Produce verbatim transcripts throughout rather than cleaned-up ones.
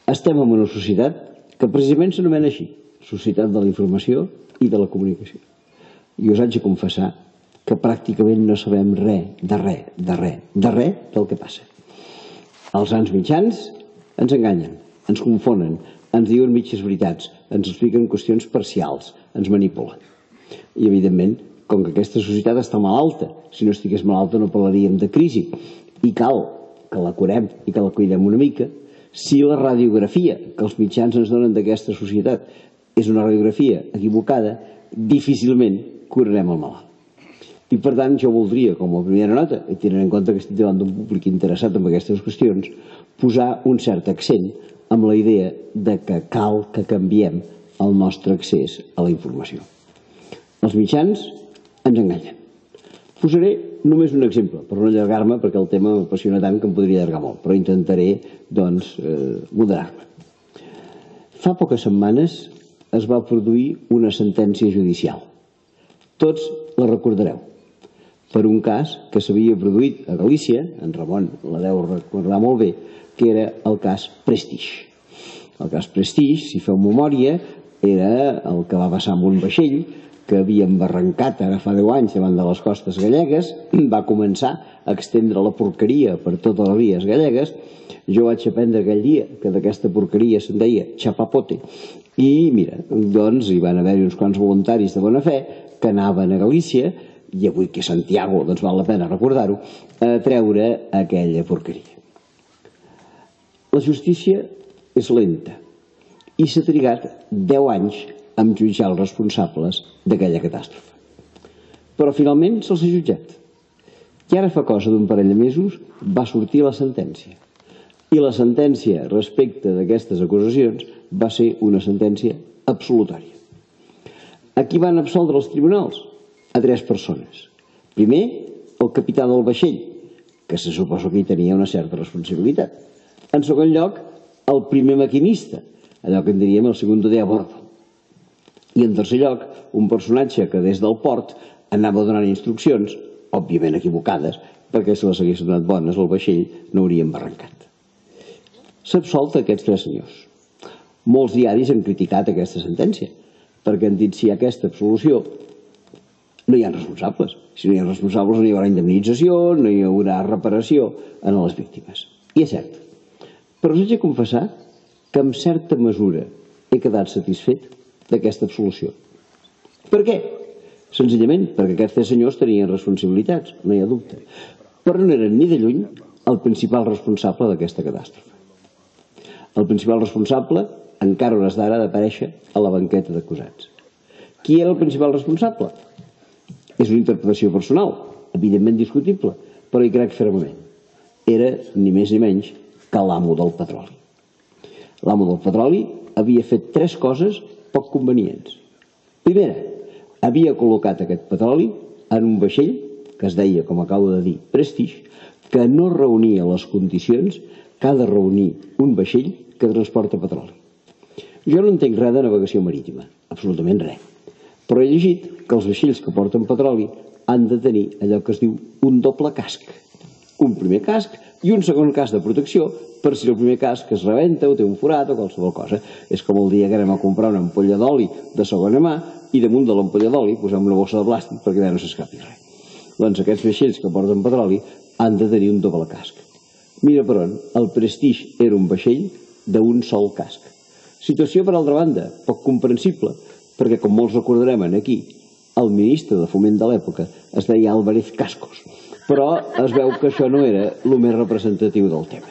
Estem en una societat que precisament s'anomena així, societat de la informació i de la comunicació. I us haig de confessar que pràcticament no sabem res, de res, de res, de res del que passa. Els grans mitjans ens enganyen, ens confonen, ens diuen mitges veritats, ens expliquen qüestions parcials, ens manipulen. I, evidentment, com que aquesta societat està malalta, si no estigués malalta no parlaríem de crisi, i cal que la curem i que la cuidem una mica, si la radiografia que els mitjans ens donen d'aquesta societat és una radiografia equivocada, difícilment curarem el malalt. I per tant jo voldria, com a primera nota, i tenint en compte que estic davant d'un públic interessat en aquestes qüestions, posar un cert accent amb la idea de que cal que canviem el nostre accés a la informació. Els mitjans ens enganyen. Posaré només un exemple, per no allargar-me, perquè el tema m'apassiona tant que em podria allargar molt, però intentaré, doncs, moderar-me. Fa poques setmanes es va produir una sentència judicial. Tots la recordareu, per un cas que s'havia produït a Galícia, en Ramon la deu recordar molt bé, que era el cas Prestige. El cas Prestige, si feu memòria, era el que va passar amb un vaixell que havia embarrancat ara fa deu anys davant de les costes gallegues, va començar a estendre la porqueria per totes les vies gallegues. Jo vaig aprendre aquell dia que d'aquesta porqueria se'n deia chapapote, i mira, doncs hi van haver uns quants voluntaris de bona fe que anaven a Galícia, i avui que Santiago, doncs val la pena recordar-ho, a treure aquella porqueria. La justícia és lenta i s'ha trigat deu anys en jutjar els responsables d'aquella catàstrofe. Però finalment se'ls ha jutjat. I ara fa cosa d'un parell de mesos va sortir la sentència. I la sentència respecte d'aquestes acusacions va ser una sentència absolutòria. A qui van absoldre els tribunals? A tres persones. Primer, el capità del vaixell, que se suposa que hi tenia una certa responsabilitat. En segon lloc, el primer maquinista, allò que en diríem el segundo de a bordo. I en tercer lloc, un personatge que des del port anava donant instruccions, òbviament equivocades, perquè si les haguessin donat bones el vaixell no hauria embarrancat. S'ha absolt aquests tres senyors. Molts diaris han criticat aquesta sentència, perquè han dit si hi ha aquesta absolució no hi ha responsables. Si no hi ha responsables no hi haurà indemnització, no hi haurà reparació a les víctimes. I és cert. Però us haig de confessar que en certa mesura he quedat satisfet d'aquesta absolució. Per què? Senzillament perquè aquests tres senyors tenien responsabilitats, no hi ha dubte. Però no eren ni de lluny el principal responsable d'aquesta catàstrofe. El principal responsable encara a hores d'ara ha d'aparèixer a la banqueta d'acusats. Qui era el principal responsable? És una interpretació personal, evidentment discutible, però hi crec fermament. Era ni més ni menys que l'amo del petroli. L'amo del petroli havia fet tres coses poc convenients. Primera, havia col·locat aquest petroli en un vaixell, que es deia, com acabo de dir, Prestige, que no reunia les condicions que ha de reunir un vaixell que transporta petroli. Jo no entenc res de navegació marítima, absolutament res. Però he llegit que els vaixells que porten petroli han de tenir allò que es diu un doble casc. Un primer casc i un segon casc de protecció per si el primer casc es rebenta o té un forat o qualsevol cosa. És com el dia que anem a comprar una ampolla d'oli de segona mà i damunt de l'ampolla d'oli posem una bossa de plàstic perquè allà no s'escapi res. Doncs aquests vaixells que porten petroli han de tenir un doble casc. Mira per on, el Prestige era un vaixell d'un sol casc. Situació, per altra banda, poc comprensible, perquè, com molts recordarem aquí, el ministre de Foment de l'època es deia Álvarez Cascos, però es veu que això no era el més representatiu del tema.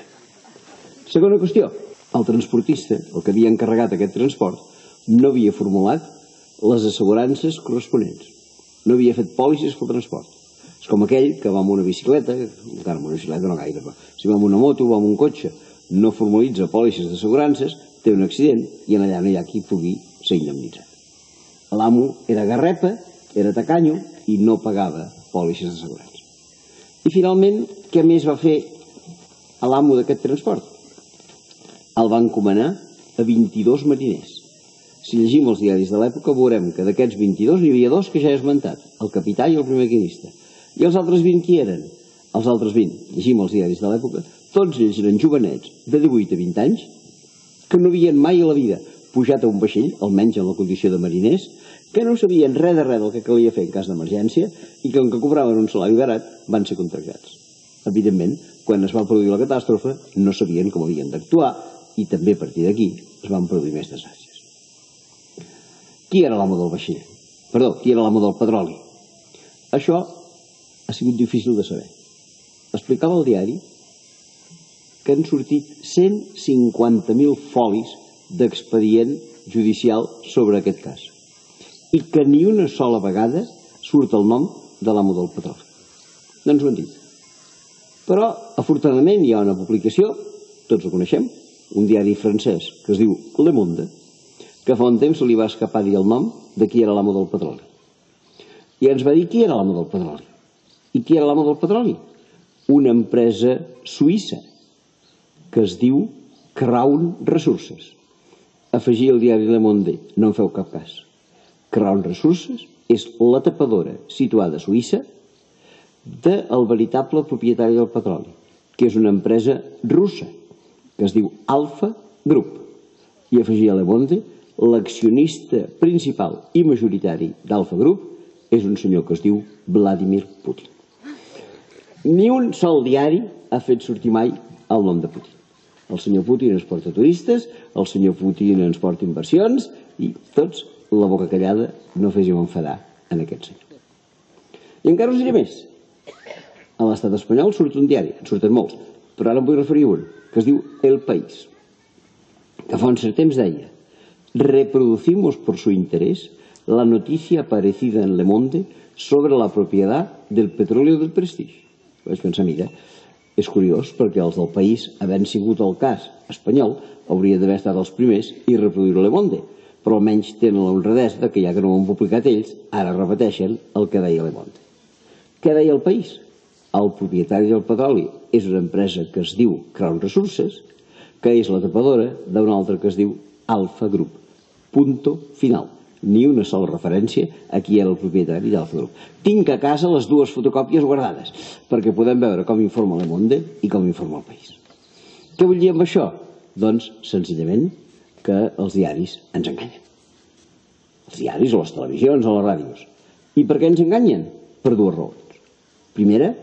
Segona qüestió, el transportista, el que havia encarregat aquest transport, no havia formulat les assegurances corresponents, no havia fet pòlisses pel transport. És com aquell que va amb una bicicleta, encara amb una bicicleta no gaire, però si va amb una moto o va amb un cotxe, no formalitza pòlisses d'assegurances, té un accident i allà no hi ha qui pugui ser indemnitzat. L'amo era garrepa, era tacanyo i no pagava pòlisses d'assegurança. I finalment, què més va fer l'amo d'aquest transport? El va encomanar a vint-i-dos mariners. Si llegim els diaris de l'època veurem que d'aquests vint-i-dos n'hi havia dos que ja he esmentat, el capità i el primer maquinista. I els altres vint qui eren? Els altres vint, llegim els diaris de l'època, tots ells eren jovenets de divuit a vint anys, que no havien mai a la vida pujat a un vaixell, almenys en la condició de mariners, que no sabien res de res del que calia fer en cas d'emergència i que, com que cobraven un salari barat, van ser contractats. Evidentment, quan es va produir la catàstrofe, no sabien com havien d'actuar i també a partir d'aquí es van produir més desgràcies. Qui era l'amo del vaixell? Perdó, qui era l'amo del petroli? Això ha sigut difícil de saber. Explicava al diari que han sortit cent cinquanta mil folis d'expedient judicial sobre aquest cas i que ni una sola vegada surt el nom de l'amo del petroli. No ens ho han dit. Però, afortunadament, hi ha una publicació, tots ho coneixem, un diari francès que es diu Le Monde, que fa un temps se li va escapar dir el nom de qui era l'amo del petroli. I ens va dir qui era l'amo del petroli. I qui era l'amo del petroli? Una empresa suïssa que es diu Crown Resources. Afegir el diari Le Monde, no en feu cap cas. Crown Resources és la tapadora situada a Suïssa del veritable propietari del petroli, que és una empresa russa, que es diu Alfa Group. I afegir a Le Monde, l'accionista principal i majoritari d'Alfa Group és un senyor que es diu Vladimir Putin. Ni un sol diari ha fet sortir mai el nom de Putin. El senyor Putin ens porta turistes, el senyor Putin ens porta inversions i tots, la boca callada, no féssim enfadar en aquest senyor. I encara us diré més. A l'estat espanyol surt un diari, en surten molts, però ara em vull referir a un, que es diu El País, que fa un cert temps deia: reproducimos por su interés la noticia aparecida en Le Monde sobre la propiedad del petróleo del Prestige. Vaig pensar, mira, és curiós perquè els del País, havent sigut el cas espanyol, hauria d'haver estat els primers i reproduir Le Monde, però almenys tenen la honradesa que ja que no ho han publicat ells, ara repeteixen el que deia Le Monde. Què deia El País? El propietari del petroli és una empresa que es diu Crown Resources, que és la tapadora d'una altra que es diu Alfa Group. Punto final. Ni una sola referència a qui era el propietari d'Alfa Group. Tinc a casa les dues fotocòpies guardades, perquè podem veure com informa Le Monde i com informa El País. Què vull dir amb això? Doncs, senzillament, que els diaris ens enganyen. Els diaris o les televisions o les ràdios. I per què ens enganyen? Per dues raons. Primera,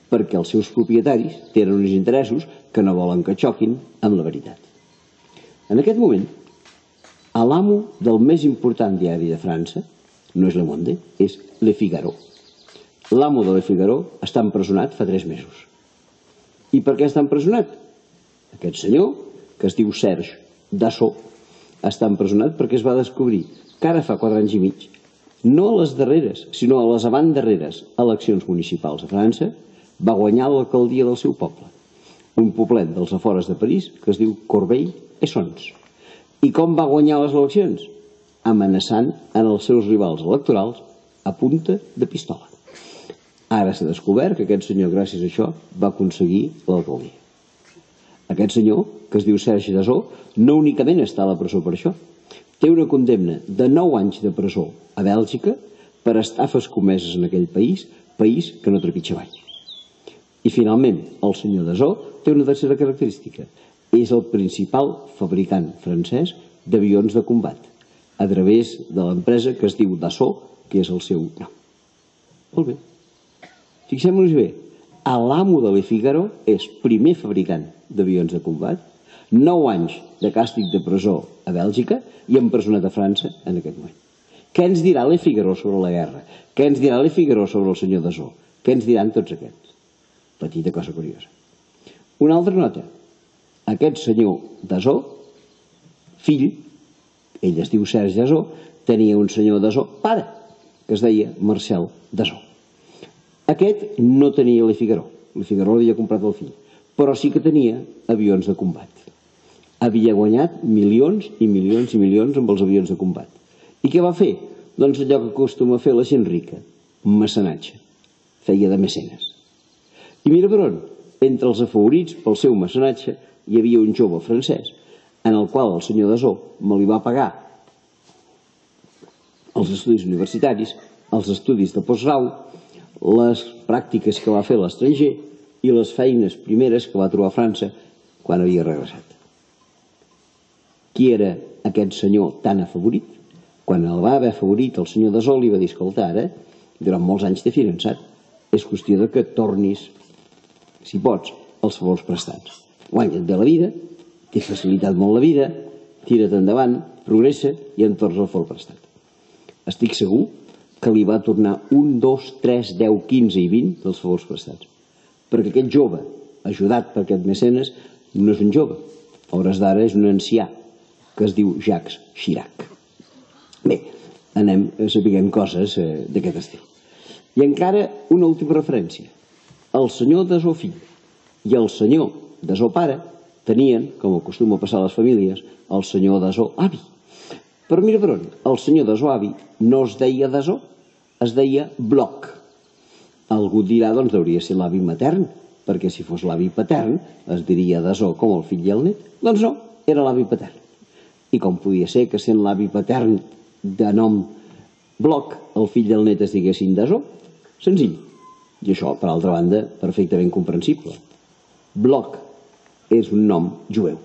perquè els seus propietaris tenen uns interessos que no volen que xoquin amb la veritat. En aquest moment, l'amo del més important diari de França no és Le Monde, és Le Figaro. L'amo de Le Figaro està empresonat fa tres mesos. I per què està empresonat? Aquest senyor, que es diu Serge Dassault, està empresonat perquè es va descobrir que ara fa quatre anys i mig, no a les darreres, sinó a les abans-darreres eleccions municipals a França, va guanyar l'alcaldia del seu poble, un poblet dels afores de París que es diu Corbeil-Essonnes. I com va guanyar les eleccions? Amenaçant en els seus rivals electorals a punta de pistola. Ara s'ha descobert que aquest senyor, gràcies a això, va aconseguir l'alcaldia. Aquest senyor, que es diu Serge Dassault, no únicament està a la presó per això. Té una condemna de nou anys de presó a Bèlgica per estafes comeses en aquell país, país que no trepitja mai. I finalment, el senyor Dassault té una tercera característica. És el principal fabricant francès d'avions de combat, a través de l'empresa que es diu Dassault, que és el seu nom. Molt bé. Fixem-nos bé, l'amo de Le Figaro és primer fabricant d'avions de combat, nou anys de càstig de presó a Bèlgica i empresonat a França en aquest moment. Què ens dirà Le Figaro sobre la guerra? Què ens dirà Le Figaro sobre el senyor Dassault? Què ens diran tots aquests? Petita cosa curiosa. Una altra nota. Aquest senyor Dassault, fill, ell es diu Serge Dassault, tenia un senyor Dassault pare, que es deia Marcel Dassault. Aquest no tenia Le Figaro, Le Figaro l'havia comprat el fill, però sí que tenia avions de combat. Havia guanyat milions i milions i milions amb els avions de combat. I què va fer? Doncs allò que acostuma a fer la gent rica, mecenatge. Feia de mecenes. I mira per on, entre els afavorits pel seu mecenatge, hi havia un jove francès en el qual el senyor Dassault me li va pagar els estudis universitaris, els estudis de postgrau, les pràctiques que va fer a l'estranger i les feines primeres que va trobar a França quan havia regressat. qui era aquest senyor tan afavorit. Quan el va haver afavorit, el senyor Dassault li va dir: escolta, ara, durant molts anys t'he finançat, és qüestió de que tornis, si pots, els favors prestats. Guanya't bé la vida, t'he facilitat molt la vida, tira't endavant, progressa i em tornes el favor prestat. Estic segur que li va tornar un, dos, tres, deu, quinze i vint dels favors prestats. Perquè aquest jove, ajudat per aquest mecenes, no és un jove. A hores d'ara és un ancià que es diu Jacques Chirac. Bé, anem a saber coses d'aquest estil. I encara una última referència. El senyor Dassault fill i el senyor Dassault pare tenien, com acostuma a passar a les famílies, el senyor Dassault avi. Però mira per on, el senyor Dassault avi no es deia Dassault, es deia Bloch. Algú dirà, doncs hauria de ser l'avi matern, perquè si fos l'avi patern es diria Dassault com el fill i el net. Doncs no, era l'avi patern. I com podia ser que sent l'avi patern de nom Bloch, el fill i el net es diguessin Dassault? Senzill. I això, per altra banda, perfectament comprensible. Bloch és un nom jueu.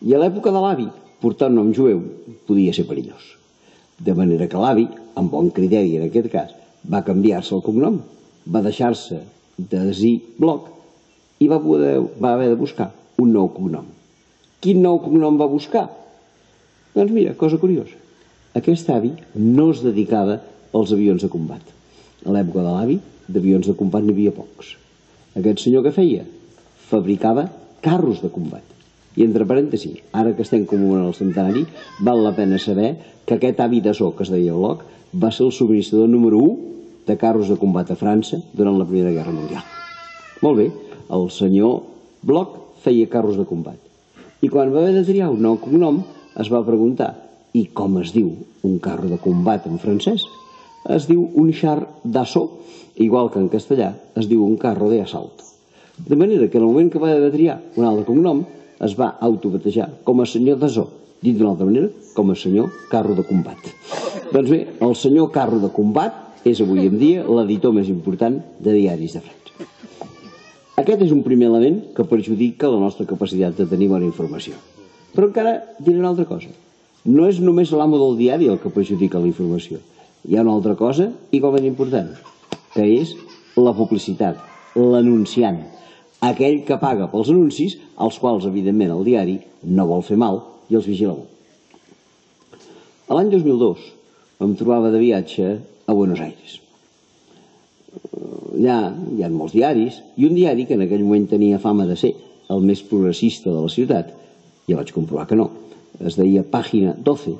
I a l'època de l'avi, portar un nom jueu podia ser perillós. De manera que l'avi, amb bon criteri en aquest cas, va canviar-se el cognom, va deixar-se de dir Bloch i va, poder, va haver de buscar un nou cognom. Quin nou cognom va buscar? Doncs mira, cosa curiosa. Aquest avi no es dedicava als avions de combat. A l'època de l'avi, d'avions de combat n'hi havia pocs. Aquest senyor que feia? Fabricava carros de combat. I entre parèntesis, ara que estem commemorant el centenari, val la pena saber que aquest avi Dassault, que es deia Bloch, va ser el subministrador número u de carros de combat a França durant la Primera Guerra Mundial. Molt bé, el senyor Bloch feia carros de combat. I quan va haver de triar un nou cognom, es va preguntar: i com es diu un carro de combat en francès? Es diu un char d'assaut, igual que en castellà es diu un carro de asalto. De manera que en el moment que va haver de triar un altre cognom, es va autobatejar com a senyor Dassault, dit d'una altra manera, com a senyor carro de combat. Doncs bé, el senyor carro de combat és avui en dia l'editor més important de diaris de França. Aquest és un primer element que perjudica la nostra capacitat de tenir bona informació. Però encara diré una altra cosa. No és només l'amo del diari el que perjudica la informació. Hi ha una altra cosa igualment important, que és la publicitat, l'anunciant, aquell que paga pels anuncis, als quals, evidentment, el diari no vol fer mal i els vigila molt. L'any dos mil dos em trobava de viatge a Buenos Aires. Allà hi ha molts diaris, i un diari que en aquell moment tenia fama de ser el més progressista de la ciutat, ja vaig comprovar que no, es deia Pàgina doce,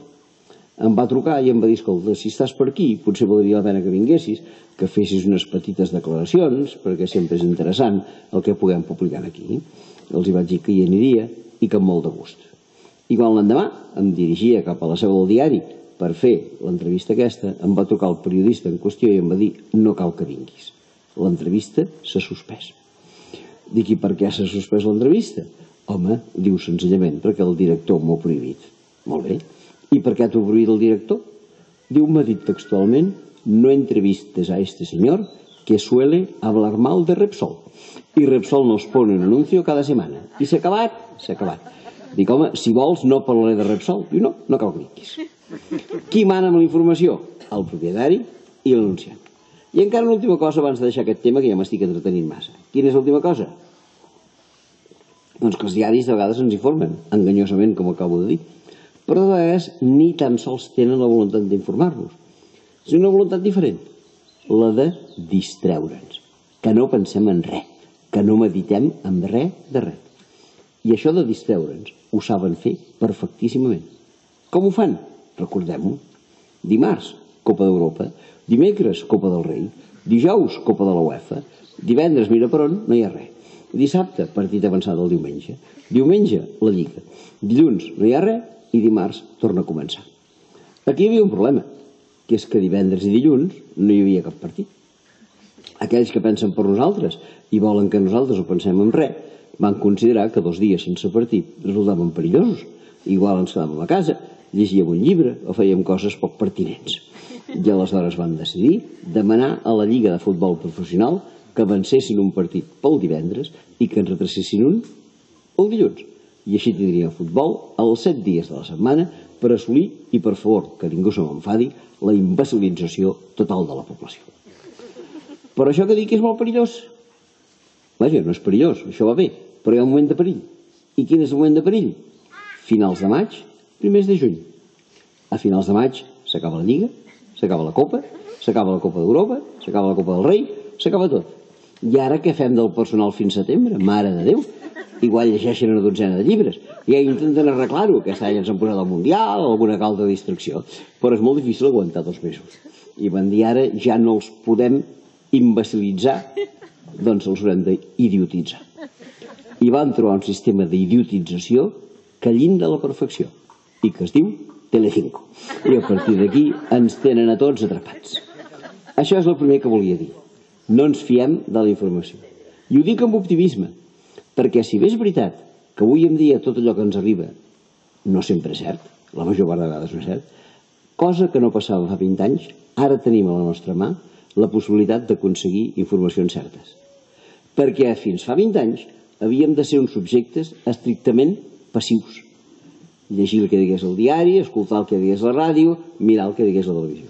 em va trucar i em va dir: escolta, si estàs per aquí, potser valdria la pena que vinguessis, que fessis unes petites declaracions, perquè sempre és interessant el que puguem publicar aquí. Els hi vaig dir que hi aniria i que amb molt de gust. I quan l'endemà em dirigia cap a la seu del diari per fer l'entrevista aquesta, em va trucar el periodista en qüestió i em va dir: no cal que vinguis, l'entrevista s'ha suspès. Dic: i per què s'ha suspès l'entrevista? Home, diu, senzillament perquè el director m'ho ha prohibit. Molt bé. I per què t'ho ha prohibit el director? Diu, m'ha dit textualment: no entrevistes a este señor que suele hablar mal de Repsol. Y Repsol nos pone un anuncio cada setmana. I s'ha acabat? S'ha acabat. Dic, home, si vols no parlaré de Repsol. Diu, no, no cal que vinguis. Qui mana amb la informació? El propietari i l'anunciant. I encara una última cosa abans de deixar aquest tema, que ja m'estic entretenint massa. Quina és l'última cosa? Doncs que els diaris de vegades ens informen, enganyosament, com acabo de dir. Però de vegades ni tan sols tenen la voluntat d'informar-nos. És una voluntat diferent, la de distreure'ns, que no pensem en res, que no meditem en res de res. I això de distreure'ns ho saben fer perfectíssimament. Com ho fan? Recordem-ho. Dimarts, Copa d'Europa. Dimecres, Copa del Rei. Dijous, Copa de la UEFA. Divendres, mira per on, no hi ha res. Dissabte, partit avançat el diumenge. Diumenge, la Lliga. Dilluns, no hi ha res, i dimarts torna a començar. Aquí hi havia un problema, que és que divendres i dilluns no hi havia cap partit. Aquells que pensen per nosaltres i volen que nosaltres ho pensem en res, van considerar que dos dies sense partit resultaven perillosos. Igual ens quedàvem a casa, llegíem un llibre o fèiem coses poc pertinents. I aleshores van decidir demanar a la Lliga de Futbol Professional que avancessin un partit pel divendres i que en retracessin un el dilluns. I així tindríem futbol els set dies de la setmana per assolir, i per favor, que ningú se m'enfadi, la imbecilització total de la població. Però això que dic és molt perillós. Vaja, no és perillós, això va bé, però hi ha un moment de perill. I quin és el moment de perill? Finals de maig, primers de juny. A finals de maig s'acaba la Lliga, s'acaba la Copa, s'acaba la Copa d'Europa, s'acaba la Copa del Rei, s'acaba tot. I ara què fem del personal fins setembre? Mare de Déu! Igual llegeixen una dotzena de llibres. Ja intenten arreglar-ho. Aquest any ens han posat al Mundial o alguna altra distracció. Però és molt difícil aguantar dos mesos. I van dir ara ja no els podem imbecilitzar, doncs els haurem d'idiotitzar. I van trobar un sistema d'idiotització que llinda la perfecció i que es diu Telecinco. I a partir d'aquí ens tenen a tots atrapats. Això és el primer que volia dir. No ens fiem de la informació. I ho dic amb optimisme, perquè si bé és veritat que avui en dia tot allò que ens arriba no sempre és cert, la major part de vegades no és cert, cosa que no passava fa vint anys, ara tenim a la nostra mà la possibilitat d'aconseguir informacions certes. Perquè fins fa vint anys havíem de ser uns subjectes estrictament passius. Llegir el que digués el diari, escoltar el que digués la ràdio, mirar el que digués la televisió.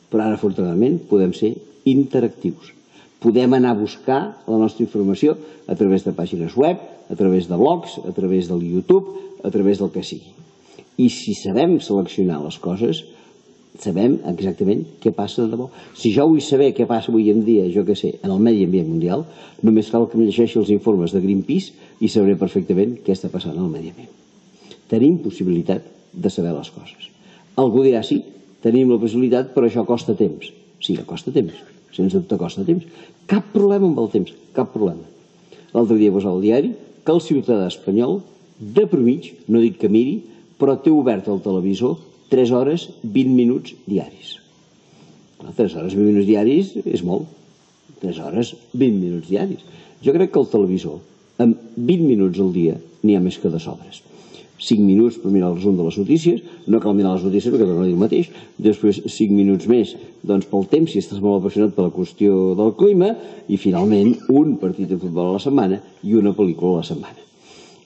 Però ara, afortunadament, podem ser interactius. Podem anar a buscar la nostra informació a través de pàgines web, a través de blogs, a través del YouTube, a través del que sigui. I si sabem seleccionar les coses, sabem exactament què passa de debò. Si jo vull saber què passa avui en dia, jo què sé, en el medi ambient mundial, només cal que em llegeixi els informes de Greenpeace i sabré perfectament què està passant al medi ambient. Tenim possibilitat de saber les coses. Algú dirà, sí, tenim la possibilitat, però això costa temps. Sí, costa temps, sense dubte costa temps. Cap problema amb el temps, cap problema. L'altre dia posava al diari que el ciutadà espanyol, de promig, no dic que miri, però té obert el televisor tres hores vint minuts diaris. tres hores vint minuts diaris és molt. tres hores vint minuts diaris. Jo crec que el televisor, amb vint minuts al dia, n'hi ha més que de sobres. cinc minuts per mirar el resum de les notícies, no cal mirar les notícies perquè no diu el mateix, després cinc minuts més doncs pel temps, si estàs molt apassionat per la qüestió del clima, i finalment un partit de futbol a la setmana i una pel·lícula a la setmana.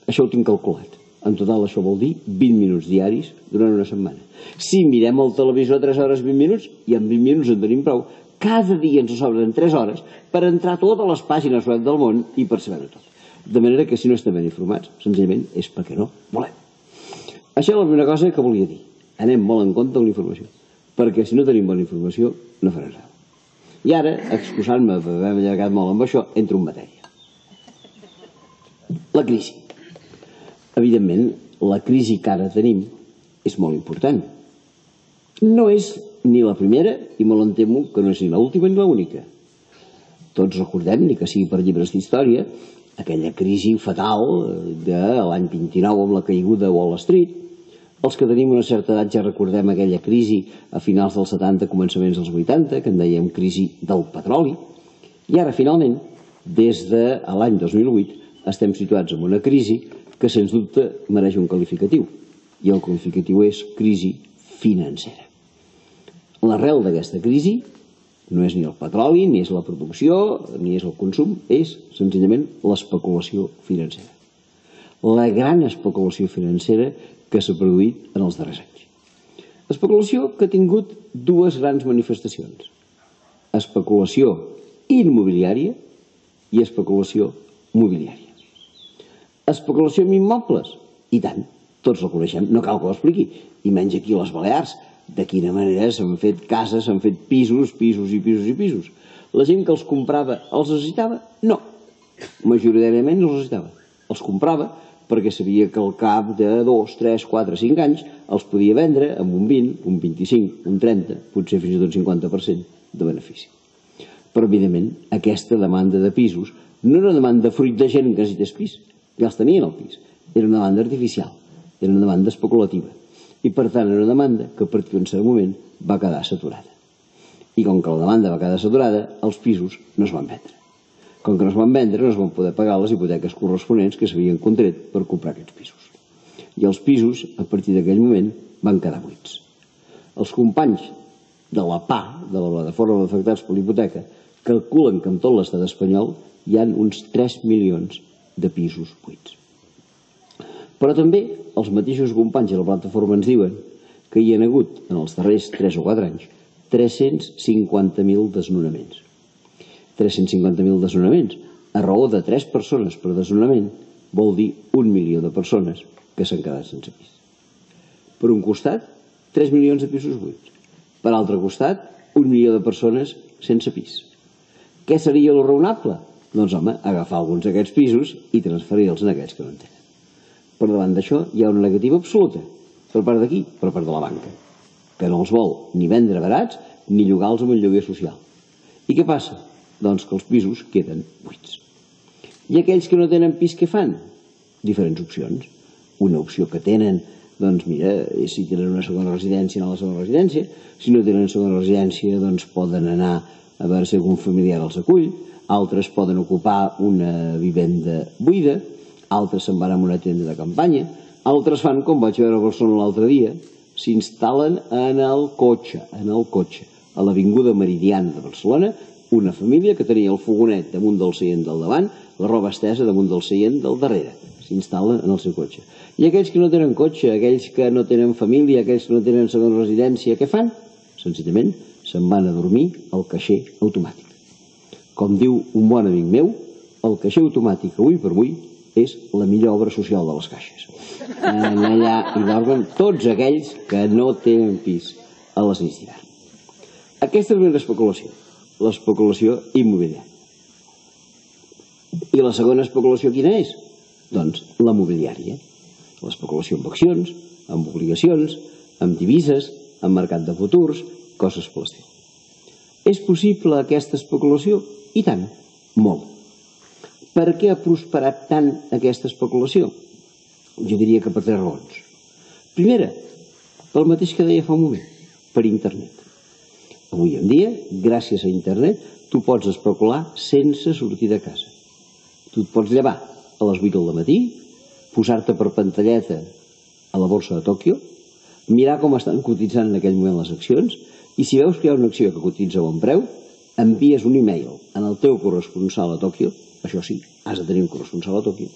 Això ho tinc calculat. En total això vol dir vint minuts diaris durant una setmana. Si mirem el televisor tres hores vint minuts, i en vint minuts en tenim prou, cada dia ens sobren tres hores per entrar a totes les pàgines web del món i per saber-ho tot. De manera que si no estem ben informats, senzillament és perquè no volem. Això és la primera cosa que volia dir. Anem molt en compte amb la informació, perquè si no tenim bona informació no farà res. I ara, excusant-me per haver allargat molt amb això, entro en matèria. La crisi. Evidentment, la crisi que ara tenim és molt important. No és ni la primera, i molt em temo que no és ni l'última ni l'única. Tots recordem, ni que sigui per llibres d'història, aquella crisi fatal de l'any vint-i-nou amb la caiguda de Wall Street. Els que tenim una certa edat ja recordem aquella crisi a finals dels setanta, començaments dels vuitanta, que en dèiem crisi del petroli. I ara, finalment, des de l'any dos mil vuit, estem situats en una crisi que, sens dubte, mereix un qualificatiu. I el qualificatiu és crisi financera. L'arrel d'aquesta crisi no és ni el petroli, ni és la producció, ni és el consum, és senzillament l'especulació financera. La gran especulació financera que s'ha produït en els darrers anys. Especulació que ha tingut dues grans manifestacions. Especulació immobiliària i especulació mobiliària. Especulació amb immobles? I tant, tots la coneixem, no cal que ho expliqui. I menys aquí a les Balears, de quina manera s'han fet cases, s'han fet pisos, pisos i pisos i pisos. La gent que els comprava els necessitava? No. Majoritàriament no els necessitava. Els comprava perquè sabia que al cap de dos, tres, quatre, cinc anys els podia vendre amb un vint, un vint-i-cinc, un trenta, potser fins i tot cinquanta per cent de benefici. Però, evidentment, aquesta demanda de pisos no era una demanda fruit de gent que necessités pis, ja els tenien al pis. Era una demanda artificial, era una demanda especulativa. I, per tant, era una demanda que a partir d'un cert moment va quedar saturada. I com que la demanda va quedar saturada, els pisos no es van vendre. Com que no es van vendre, no es van poder pagar les hipoteques corresponents que s'havien contret per comprar aquests pisos. I els pisos, a partir d'aquell moment, van quedar buits. Els companys de la P A, de la Plataforma d'Afectats per l'Hipoteca, calculen que en tot l'estat espanyol hi ha uns tres milions de pisos buits. Però també els mateixos companys de la plataforma ens diuen que hi ha hagut, en els darrers tres o quatre anys, tres-cents cinquanta mil desnonaments. tres-cents cinquanta mil desnonaments, a raó de tres persones per desnonament, vol dir un milió de persones que s'han quedat sense pis. Per un costat, tres milions de pisos buits. Per altre costat, un milió de persones sense pis. Què seria lo raonable? Doncs, home, agafar alguns d'aquests pisos i transferir-los a aquells que no en tenen. Per davant d'això hi ha una negativa absoluta, per part d'aquí, per part de la banca, que no els vol ni vendre barats ni llogar-los amb un lloguer social. I què passa? Doncs que els pisos queden buits. I aquells que no tenen pis, què fan? Diferents opcions. Una opció que tenen, doncs mira, si tenen una segona residència, anar a la segona residència. Si no tenen segona residència, doncs poden anar a veure si algun familiar els acull. Altres poden ocupar una vivenda buida. Altres se'n van a una tenda de campanya. Altres fan, com vaig veure a Barcelona l'altre dia, s'instal·len en el cotxe, en el cotxe, a l'Avinguda Meridiana de Barcelona, una família que tenia el fogonet damunt del seient del davant, la roba estesa damunt del seient del darrere. S'instal·len en el seu cotxe. I aquells que no tenen cotxe, aquells que no tenen família, aquells que no tenen segona residència, què fan? Senzillament se'n van a dormir al caixer automàtic. Com diu un bon amic meu, el caixer automàtic avui per avui és la millor obra social de les caixes. Allà hi dormen tots aquells que no tenen pis a les nits d'hivern. Aquesta és una especulació, l'especulació immobiliària. I la segona especulació quina és? Doncs la mobiliària. L'especulació amb accions, amb obligacions, amb divises, amb mercat de futurs, coses per l'estil. És possible aquesta especulació? I tant, molt. Per què ha prosperat tant aquesta especulació? Jo diria que per tres raons. Primera, pel mateix que deia fa un moment, per internet. Avui en dia, gràcies a internet, tu pots especular sense sortir de casa. Tu et pots llevar a les vuit del matí, posar-te per pantalleta a la borsa de Tòquio, mirar com estan cotitzant en aquell moment les accions, i si veus que hi ha una acció que cotitza a bon preu, envies un e-mail al teu corresponsal a Tòquio, això sí, has de tenir un corresponsal a Tòquio,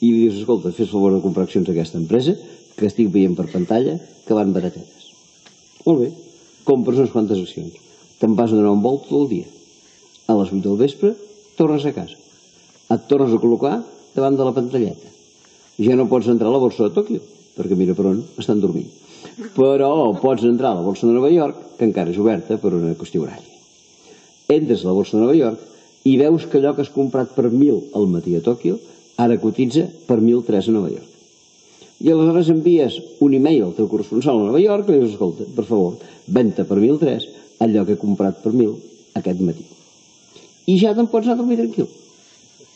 i li dius, escolta, fes favor de comprar accions d'aquesta empresa, que estic veient per pantalla, que van baratetes. Molt bé, compres unes quantes accions, te'n vas a donar un volt tot el dia. A les vuit del vespre, tornes a casa. Et tornes a col·locar davant de la pantalleta. Ja no pots entrar a la borsa de Tòquio, perquè mira per on estan dormint. Però pots entrar a la borsa de Nova York, que encara és oberta per una qüestió horària. Entres a la borsa de Nova York i veus que allò que has comprat per mil al matí a Tòquio ara cotitza per mil tres a Nova York. I aleshores envies un e-mail al teu corresponsal a Nova York i li dius, escolta, per favor, ven-te per mil tres allò que he comprat per mil aquest matí. I ja te'n pots anar a dormir tranquil.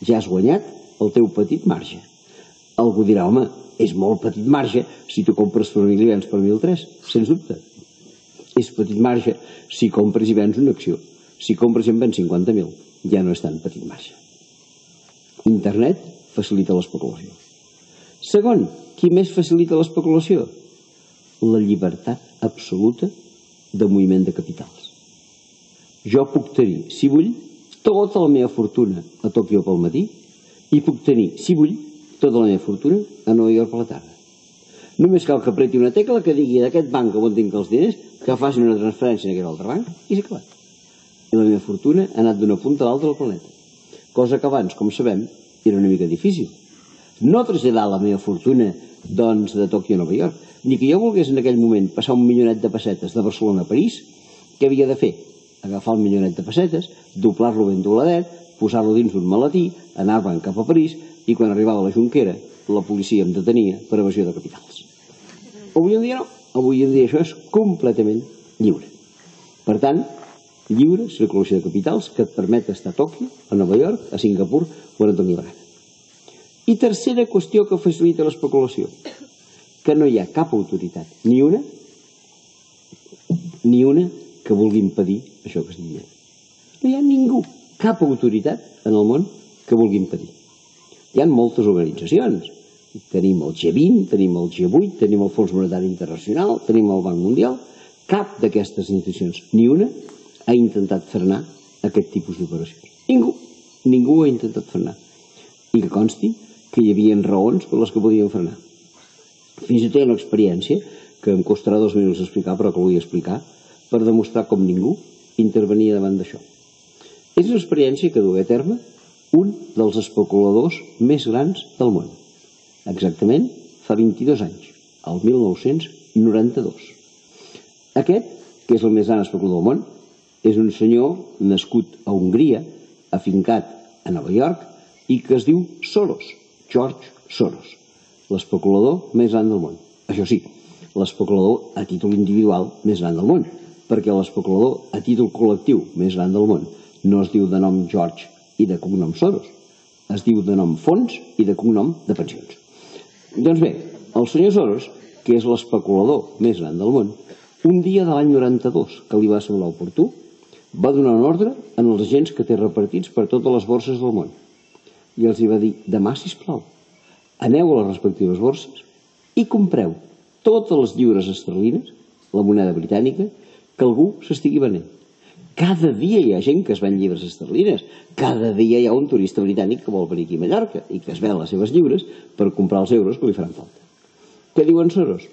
Ja has guanyat el teu petit marge. Algú dirà, home, és molt petit marge si tu compres per mil i vens per mil tres, sens dubte. És petit marge si compres i vens una acció. Si compres i en vens cinquanta mil, ja no és tan petit marge. Internet facilita l'especulació. Segon, qui més facilita l'especulació? La llibertat absoluta de moviment de capitals. Jo puc tenir, si vull, tota la meva fortuna a Tòquio pel matí i puc tenir, si vull, tota la meva fortuna a Nova York per la tarda. Només cal que apreti una tecla que digui d'aquest banc on tinc els diners, que facin una transferència en aquest altre banc i s'ha acabat. I la meva fortuna ha anat d'una punta a l'altra del planeta. Cosa que abans, com sabem, era una mica difícil. No traslladar la meva fortuna, doncs, de Tòquio a Nova York, ni que jo volgués en aquell moment passar un milionet de pessetes de Barcelona a París, què havia de fer? Agafar el milionet de pessetes, doblar-lo ben dobladet, posar-lo dins d'un maletí, anar-me'n cap a París, i quan arribava a la Jonquera, la policia em detenia per evasió de capitals. Avui en dia no. Avui en dia això és completament lliure. Per tant, lliure circulació de capitals que et permet estar a Tòquio, a Nova York, a Singapur o a Antoni Brana. I tercera qüestió que facilita l'especulació, que no hi ha cap autoritat, ni una, ni una que vulgui impedir això que estic dient. No hi ha ningú, cap autoritat en el món que vulgui impedir. Hi ha moltes organitzacions. Tenim el G vint, tenim el G vuit, tenim el Fons Monetari Internacional, tenim el Banc Mundial. Cap d'aquestes institucions, ni una, ha intentat frenar aquest tipus d'operacions. Ningú, ningú ha intentat frenar. I que consti que hi havia raons per les que podien frenar. Fins i tot hi ha una experiència que em costarà dos minuts explicar, però que vull explicar, per demostrar com ningú intervenia davant d'això. És una experiència que duia a terme un dels especuladors més grans del món. Exactament fa vint-i-dos anys, el mil nou-cents noranta-dos. Aquest, que és el més gran especulador del món, és un senyor nascut a Hongria, afincat a Nova York, i que es diu Soros, George Soros, l'especulador més gran del món. Això sí, l'especulador a títol individual més gran del món, perquè l'especulador a títol col·lectiu més gran del món no es diu de nom George i de cognom Soros, es diu de nom fons i de cognom de pensions. Doncs bé, el senyor Soros, que és l'especulador més gran del món, un dia de l'any noranta-dos, que li va semblar oportú, va donar un ordre en els agents que té repartits per totes les borses del món. I els hi va dir: demà, sisplau, aneu a les respectives borses i compreu totes les lliures esterlines, la moneda britànica, que algú s'estigui venent. Cada dia hi ha gent que es ven lliures esterlines, cada dia hi ha un turista britànic que vol venir aquí a Mallorca i que es ven les seves lliures per comprar els euros que li faran falta. Què diuen Soros?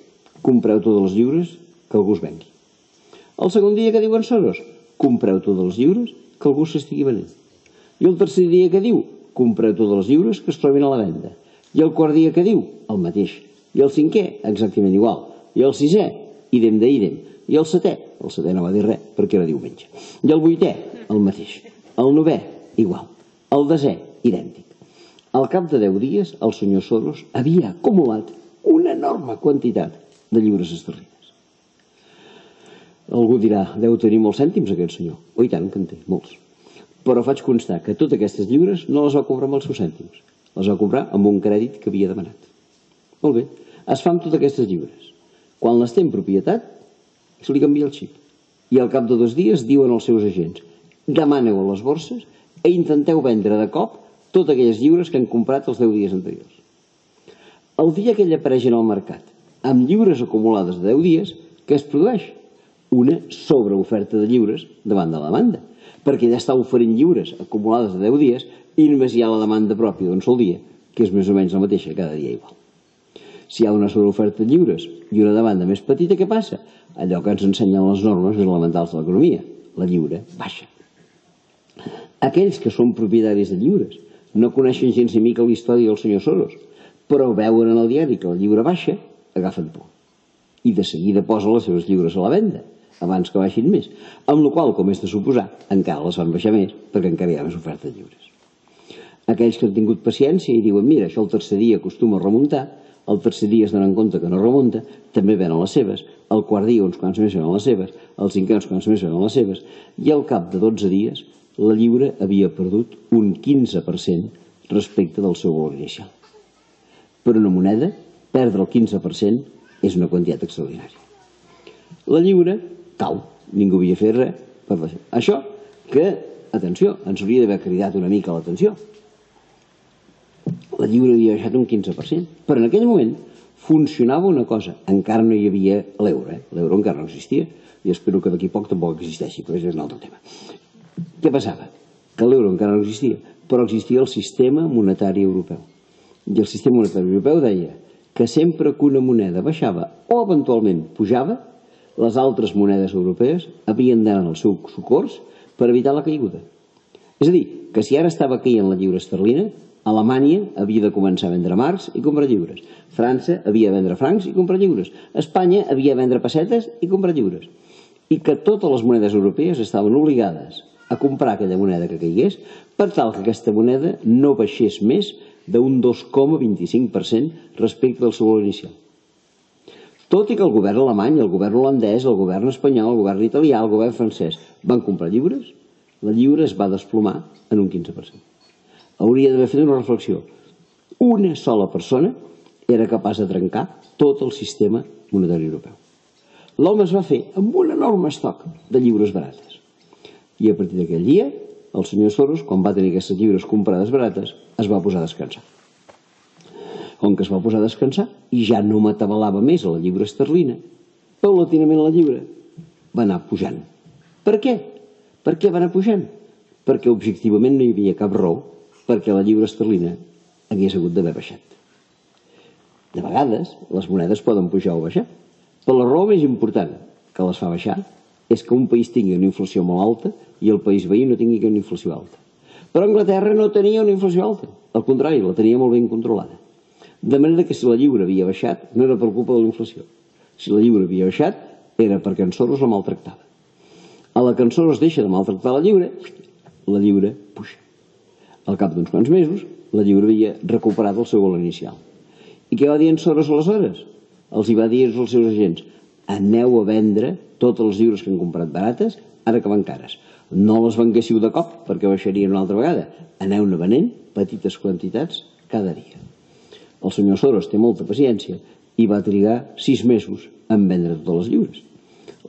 Compreu totes les lliures que algú es vengui. El segon dia que diuen Soros? Compreu totes les lliures que algú s'estigui venent. I el tercer dia que diu? Compreu totes les lliures que es trobin a la venda. I el quart dia que diu? El mateix. I el cinquè? Exactament igual. I el sisè? Idem de idem. I el setè? El setè no va dir res perquè era diumenge. I el vuitè? El mateix. El novè? Igual. El desè? Idèntic. Al cap de deu dies, el senyor Soros havia acumulat una enorme quantitat de lliures esterlines. Algú dirà: deu tenir molts cèntims aquest senyor. Oh, i tant que en té, molts. Però faig constar que totes aquestes lliures no les va comprar amb els seus cèntims, les va comprar amb un crèdit que havia demanat. Molt bé, es fa amb totes aquestes lliures. Quan les té en propietat, se li canvia el xip. I al cap de dos dies diuen als seus agents: demaneu a les borses i intenteu vendre de cop totes aquelles lliures que han comprat els deu dies anteriors. El dia que ell apareix en el mercat amb lliures acumulades de deu dies, què es produeix? Una sobreoferta de lliures davant de la demanda, perquè ja està oferint lliures acumulades de deu dies i només hi ha la demanda pròpia d'un sol dia, que és més o menys la mateixa cada dia igual. Si hi ha una sobreoferta de lliures i una demanda més petita, què passa? Allò que ens ensenyen les normes elementals de l'economia: la lliure baixa. Aquells que són propietaris de lliures no coneixen gens ni mica la història del senyor Soros, però veuen en el diari que la lliure baixa, agafen por. I de seguida posen les seves lliures a la venda, abans que baixin més, amb la qual, com és de suposar, encara les fan baixar més, perquè encara hi ha més oferta de lliures. Aquells que han tingut paciència i diuen: mira, això el tercer dia acostuma a remuntar, el tercer dia es donen compte que no remunta, també venen les seves, el quart dia uns quants més venen les seves, el cinquè uns quants més venen les seves, i al cap de dotze dies la lliure havia perdut un quinze per cent respecte del seu valor inicial. Per una moneda, perdre el quinze per cent és una quantitat extraordinària. La lliure cau, ningú havia fet res per baixar. Això que, atenció, ens hauria d'haver cridat una mica l'atenció. La lliure havia baixat un quinze per cent, però en aquell moment funcionava una cosa: encara no hi havia l'euro, eh? L'euro encara no existia, i espero que d'aquí poc tampoc existeixi, però això és un altre tema. Què passava? Que l'euro encara no existia, però existia el sistema monetari europeu. I el sistema monetari europeu deia que sempre que una moneda baixava o eventualment pujava, les altres monedes europees havien d'anar al seu socors per evitar la caiguda. És a dir, que si ara estava caient la lliure esterlina, Alemanya havia de començar a vendre marcs i comprar lliures. França havia de vendre francs i comprar lliures. Espanya havia de vendre pessetes i comprar lliures. I que totes les monedes europees estaven obligades a comprar aquella moneda que caigués per tal que aquesta moneda no baixés més d'un dos coma vint-i-cinc per cent respecte del seu valor inicial. Tot i que el govern alemany, el govern holandès, el govern espanyol, el govern italià, el govern francès van comprar lliures, la lliure es va desplomar en un quinze per cent. Hauria d'haver fet una reflexió. Una sola persona era capaç de trencar tot el sistema monetari europeu. L'home es va fer amb un enorme estoc de lliures barates. I a partir d'aquell dia, el senyor Soros, quan va tenir aquestes lliures comprades barates, es va posar a descansar. Com que es va posar a descansar i ja no m'atabalava més a la lliure esterlina, paulatinament la lliure va anar pujant. Per què? Per què va anar pujant? Perquè objectivament no hi havia cap raó perquè la lliure esterlina hagués hagut d'haver baixat. De vegades, les monedes poden pujar o baixar. Però la raó més important que les fa baixar és que un país tingui una inflació molt alta i el país veí no tingui una inflació alta. Però Anglaterra no tenia una inflació alta. Al contrari, la tenia molt ben controlada. De manera que si la lliura havia baixat, no era per culpa de la inflació. Si la lliura havia baixat, era perquè en Soros la maltractava. A la que en Soros deixa de maltractar la lliura, la lliura puja. Al cap d'uns quants mesos, la lliura havia recuperat el seu valor inicial. I què va dir en Soros aleshores? Els hi va dir als seus agents: aneu a vendre totes les lliures que han comprat barates, ara que van cares. No les venguéssiu de cop, perquè baixarien una altra vegada. Aneu-ne venent petites quantitats cada dia. El senyor Soros té molta paciència i va trigar sis mesos en vendre totes les lliures.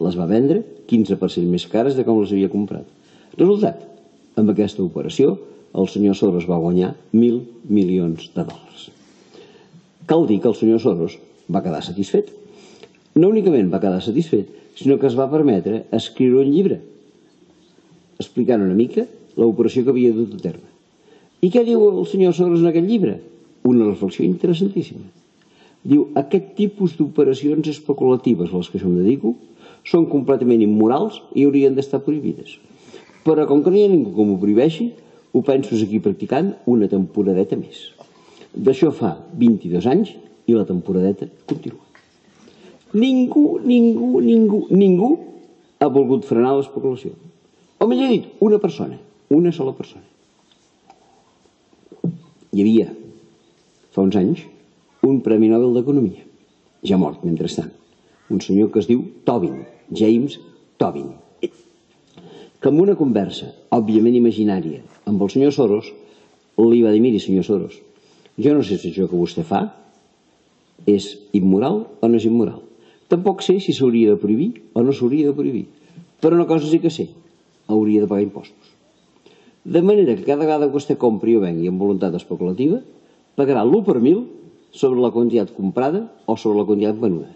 Les va vendre quinze per cent més cares de com les havia comprat. Resultat, amb aquesta operació, el senyor Soros va guanyar mil milions de dòlars. Cal dir que el senyor Soros va quedar satisfet. No únicament va quedar satisfet, sinó que es va permetre escriure un llibre explicant una mica l'operació que havia dut a terme. I què diu el senyor Soros en aquest llibre? Una reflexió interessantíssima. Diu: aquest tipus d'operacions especulatives a les que jo em dedico són completament immorals i haurien d'estar prohibides. Però com que no hi ha ningú que m'ho prohibeixi, ho penso seguir practicant una temporadeta més. D'això fa vint-i-dos anys i la temporadeta continua. Ningú, ningú, ningú, ningú ha volgut frenar l'especulació. O millor dit, una persona, una sola persona. Hi havia, fa uns anys, un Premi Nobel d'Economia, ja mort mentrestant, un senyor que es diu Tobin, James Tobin, que en una conversa, òbviament imaginària, amb el senyor Soros, li va dir: miri, senyor Soros, jo no sé si això que vostè fa és immoral o no és immoral. Tampoc sé si s'hauria de prohibir o no s'hauria de prohibir. Però una cosa sí que sé: hauria de pagar impostos. De manera que cada vegada que vostè compri o vengui amb voluntat especulativa, pagarà l'u per mil sobre la quantitat comprada o sobre la quantitat venuda.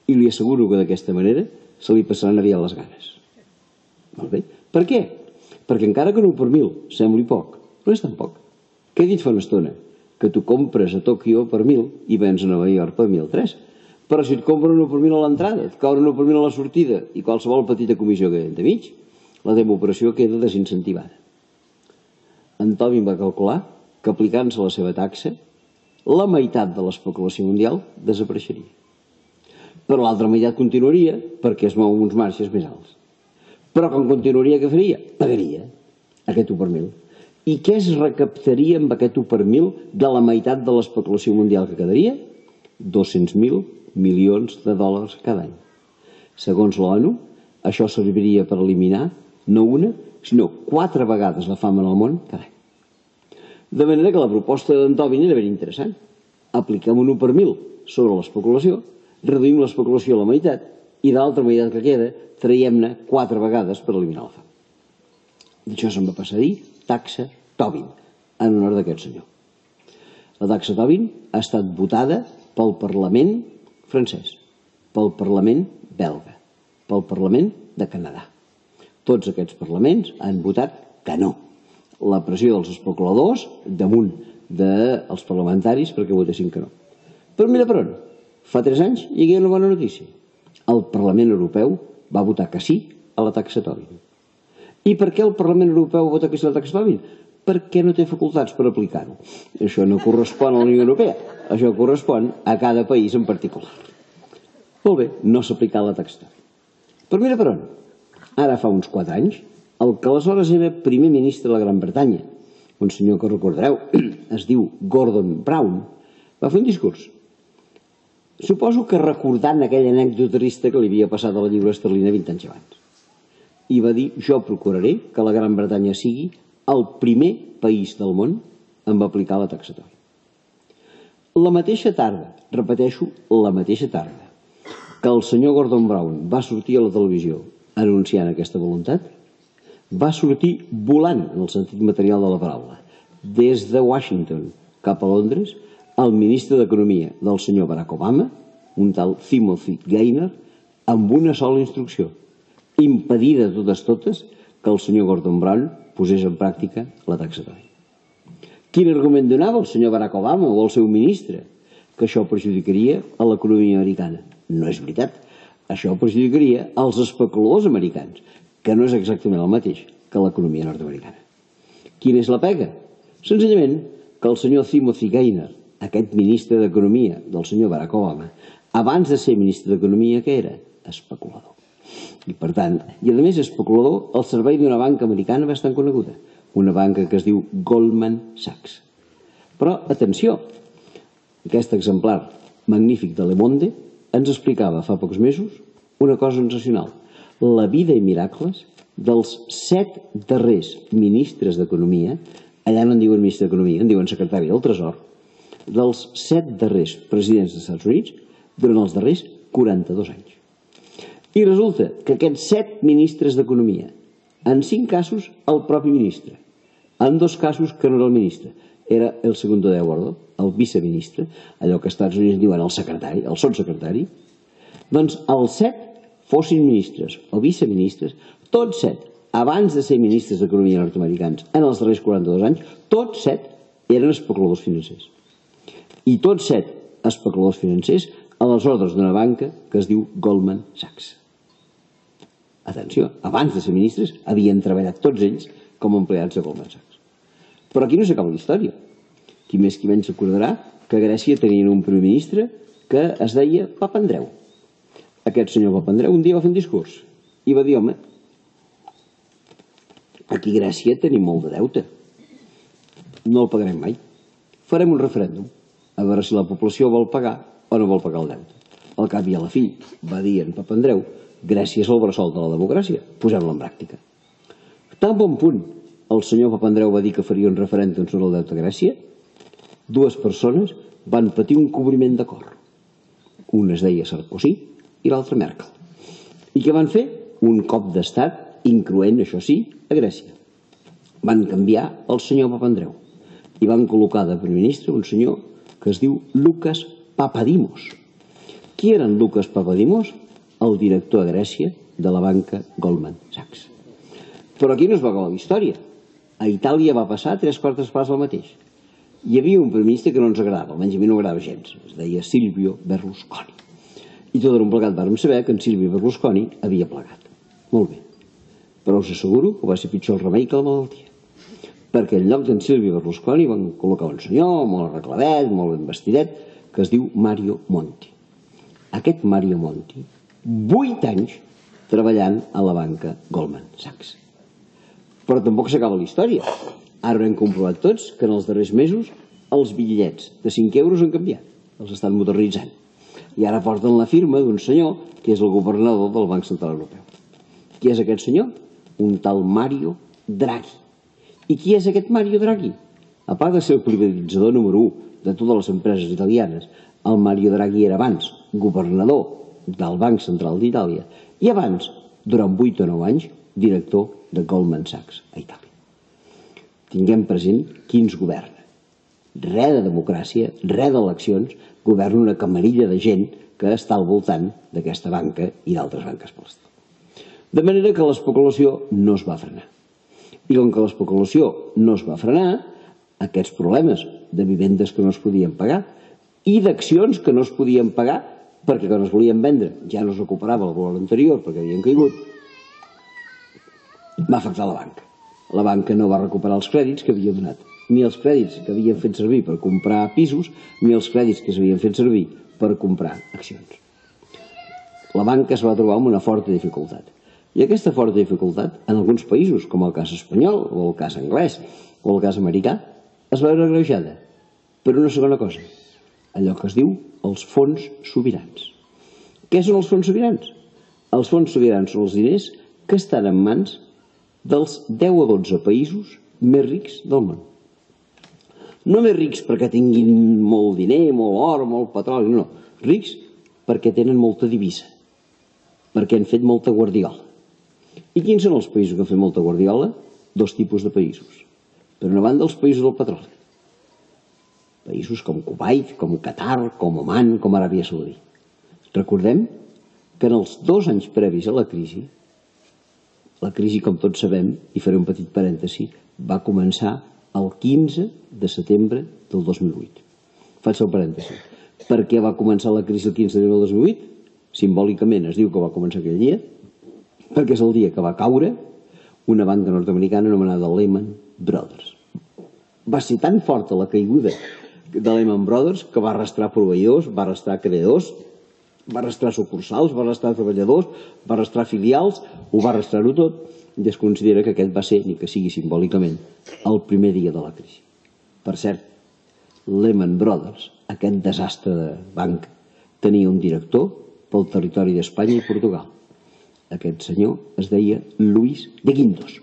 I li asseguro que d'aquesta manera se li passaran aviat les ganes. Molt bé. Per què? Perquè encara que un u per mil sembli poc, no és tan poc. Què he dit fa una estona? Que tu compres a Tòquio per mil i vens a Nova York per mil tres. Però si et compren un u per mil a l'entrada, et cobren un u per mil a la sortida i qualsevol petita comissió que hi ha entremig, la teva operació queda desincentivada. En Tobin va calcular que aplicant-se la seva taxa, la meitat de l'especulació mundial desapareixeria. Però l'altra meitat continuaria perquè es mou uns marges més alts. Però com continuaria, què faria? Pagaria aquest u per mil. I què es recaptaria amb aquest u per mil de la meitat de l'especulació mundial que quedaria? dos-cents mil milions de dòlars cada any. Segons l'ONU, això serviria per eliminar no una, sinó quatre vegades la fam en el món cada any. De manera que la proposta d'en Tobin era ben interessant. Apliquem un u per mil sobre l'especulació, reduïm l'especulació a la meitat i de l'altra meitat que queda traiem-ne quatre vegades per eliminar la fam. D'això se'n va passar a dir taxa Tobin, en honor d'aquest senyor. La taxa Tobin ha estat votada pel Parlament francès, pel Parlament belga, pel Parlament de Canadà. Tots aquests parlaments han votat que no. La pressió dels especuladors damunt dels parlamentaris perquè votessin que no. Però mira per on, fa tres anys hi havia una bona notícia. El Parlament Europeu va votar que sí a la taxa Tobin. I per què el Parlament Europeu va votar que sí a la taxa Tobin? Perquè no té facultats per aplicar-ho. Això no correspon a la Unió Europea, això correspon a cada país en particular. Molt bé, no s'ha aplicat la taxa Tobin. Però mira per on, ara fa uns quatre anys, el que aleshores era primer ministre de la Gran Bretanya, un senyor que recordareu, es diu Gordon Brown, va fer un discurs. Suposo que recordant aquella anècdota trista que li havia passat a la lliura esterlina vint anys abans. I va dir: jo procuraré que la Gran Bretanya sigui el primer país del món en aplicar la taxa Tobin. La mateixa tarda, repeteixo, la mateixa tarda, que el senyor Gordon Brown va sortir a la televisió anunciant aquesta voluntat, va sortir volant, en el sentit material de la paraula, des de Washington cap a Londres, el ministre d'Economia del senyor Barack Obama, un tal Timothy Geithner, amb una sola instrucció: impedir de totes totes que el senyor Gordon Brown posés en pràctica la taxa Tobin. Quin argument donava el senyor Barack Obama o el seu ministre? que això perjudicaria a l'economia americana. No és veritat. Això perjudicaria als especuladors americans, que no és exactament el mateix que l'economia nord-americana. Quina és la pega? Senzillament que el senyor Timothy Geithner, aquest ministre d'Economia del senyor Barack Obama, abans de ser ministre d'Economia, què era? Especulador. I per tant, i a més especulador al servei d'una banca americana bastant coneguda, una banca que es diu Goldman Sachs. Però, atenció, aquest exemplar magnífic de Le Monde ens explicava fa pocs mesos una cosa sensacional, la vida i miracles dels set darrers ministres d'Economia, allà no en diuen ministre d'Economia, en diuen secretari del Tresor, dels set darrers presidents dels Estats Units durant els darrers quaranta-dos anys. I resulta que aquests set ministres d'Economia, en cinc casos el propi ministre, en dos casos que no era el ministre, era el segundo de a bordo, el viceministre, allò que als Estats Units diuen el secretari, el sotssecretari, doncs els set fossin ministres o viceministres, tots set, abans de ser ministres d'Economia nord-americans en els darrers quaranta-dos anys, tots set eren especuladors financers. I tots set especuladors financers a les ordres d'una banca que es diu Goldman Sachs. Atenció, abans de ser ministres havien treballat tots ells com a empleats de Goldman Sachs. Però aquí no s'acaba la història. Qui més qui menys recordarà que a Grècia tenien un primer ministre que es deia Papandreou. Aquest senyor Papandreou un dia va fer un discurs i va dir, home, aquí a Grècia tenim molt de deute. No el pagarem mai. Farem un referèndum a veure si la població vol pagar o no vol pagar el deute. Al cap i a la fi, va dir en Papandreou, Grècia és el bressol de la democràcia, posem-la en pràctica. Tan bon punt el senyor Papandreou va dir que faria un referèndum sobre el deute a Grècia, dues persones van patir un cobriment de cor. Un es deia Sarkozy i l'altre Merkel. I què van fer? Un cop d'estat, incloent, això sí, a Grècia. Van canviar el senyor Papandreou i van col·locar de primer ministre un senyor que es diu Lucas Papadimos. Qui era en Lucas Papadimos? El director a Grècia de la banca Goldman Sachs. Però aquí no es va acabar la història. A Itàlia va passar tres quartes parts del mateix. Hi havia un primer ministre que no ens agradava, almenys a mi no agradava gens, es deia Silvio Berlusconi. I tot d'un plegat vàrem saber que en Silvio Berlusconi havia plegat. Molt bé. Però us asseguro que va ser pitjor el remei que la malaltia. Perquè en lloc d'en Silvio Berlusconi van col·locar un senyor molt arregladet, molt ben vestidet, que es diu Mario Monti. Aquest Mario Monti, vuit anys treballant a la banca Goldman Sachs. Però tampoc s'acaba la història. Ara hem comprovat tots que en els darrers mesos els bitllets de cinc euros han canviat, els estan modernitzant. I ara porten la firma d'un senyor que és el governador del Banc Central Europeu. Qui és aquest senyor? Un tal Mario Draghi. I qui és aquest Mario Draghi? A part de ser el privatitzador número u de totes les empreses italianes, el Mario Draghi era abans governador del Banc Central d'Itàlia i abans, durant vuit o nou anys, director de Goldman Sachs a Itàlia. Tinguem present qui ens governa. Res de democràcia, res d'eleccions, governa una camarilla de gent que està al voltant d'aquesta banca i d'altres banques per l'estat. De manera que l'especulació no es va frenar. I com que l'especulació no es va frenar, aquests problemes de vivendes que no es podien pagar i d'accions que no es podien pagar perquè quan es volien vendre ja no es recuperava el valor anterior perquè havien caigut, va afectar la banca. La banca no va recuperar els crèdits que havia donat, ni els crèdits que havien fet servir per comprar pisos, ni els crèdits que s'havien fet servir per comprar accions. La banca es va trobar amb una forta dificultat. I aquesta forta dificultat, en alguns països, com el cas espanyol, o el cas anglès, o el cas americà, es va veure agreujada per una segona cosa, allò que es diu els fons sobirans. Què són els fons sobirans? Els fons sobirans són els diners que estan en mans dels deu o dotze països més rics del món. No més rics perquè tinguin molt diner, molt or, molt petroli, no. Rics perquè tenen molta divisa, perquè han fet molta guardiola. I quins són els països que han fet molta guardiola? Dos tipus de països. Per una banda, els països del petroli. Països com Kuwait, com Qatar, com Oman, com Aràbia Saudí. Recordem que en els dos anys previs a la crisi, la crisi, com tots sabem, i faré un petit parèntesi, va començar el quinze de setembre del dos mil vuit. Faig el parèntesi. Per què va començar la crisi el quinze de novembre del dos mil vuit? Simbòlicament es diu que va començar aquell dia, perquè és el dia que va caure una banca nord-americana anomenada Lehman Brothers. Va ser tan forta la caiguda de Lehman Brothers que va arrastrar proveïdors, va arrastrar creadors, va arrastrar sucursals, va arrastrar treballadors, va arrastrar filials, ho va arrastrar-ho tot, i es considera que aquest va ser, ni que sigui simbòlicament, el primer dia de la crisi. Per cert, Lehman Brothers, aquest desastre de banc, tenia un director pel territori d'Espanya i Portugal. Aquest senyor es deia Luis de Guindos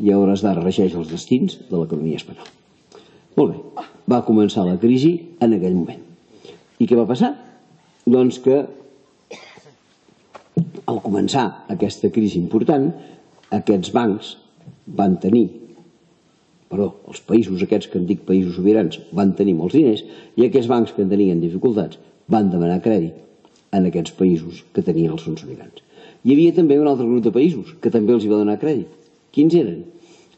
i a hores d'ara regeix els destins de l'economia espanyola. Molt bé, va començar la crisi en aquell moment. I què va passar? Doncs que al començar aquesta crisi important, aquests bancs van tenir, perdó, els països aquests que en dic països sobirans van tenir molts diners i aquests bancs que tenien dificultats van demanar crèdit en aquests països que tenien els fons sobirans. Hi havia també un altre grup de països que també els hi va donar crèdit. Quins eren?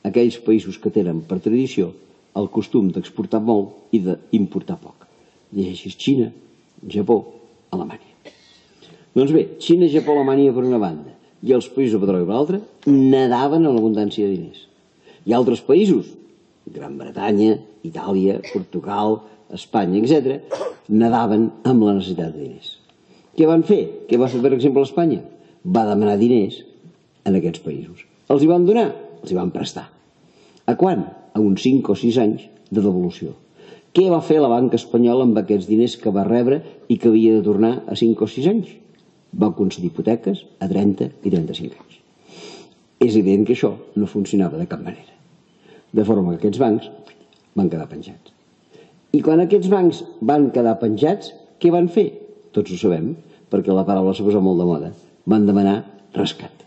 Aquells països que tenen per tradició el costum d'exportar molt i d'importar poc. Llegeixis Xina, Japó, Alemanya. Doncs bé, Xina, Japó, Alemanya per una banda i els països de petroli per l'altra nadaven en l'abundància de diners. I altres països, Gran Bretanya, Itàlia, Portugal, Espanya, etcètera, nadaven amb la necessitat de diners. Què van fer? Què va fer, per exemple, Espanya? Va demanar diners en aquests països. Els hi van donar? Els hi van prestar. A quan? A uns cinc o sis anys de devolució. Què va fer la banca espanyola amb aquests diners que va rebre i que havia de tornar a cinc o sis anys? Va concedir hipoteques a trenta i trenta-cinc anys. És evident que això no funcionava de cap manera. De forma que aquests bancs van quedar penjats. I quan aquests bancs van quedar penjats, què van fer? Tots ho sabem, perquè la paraula s'ha posat molt de moda. Van demanar rescat.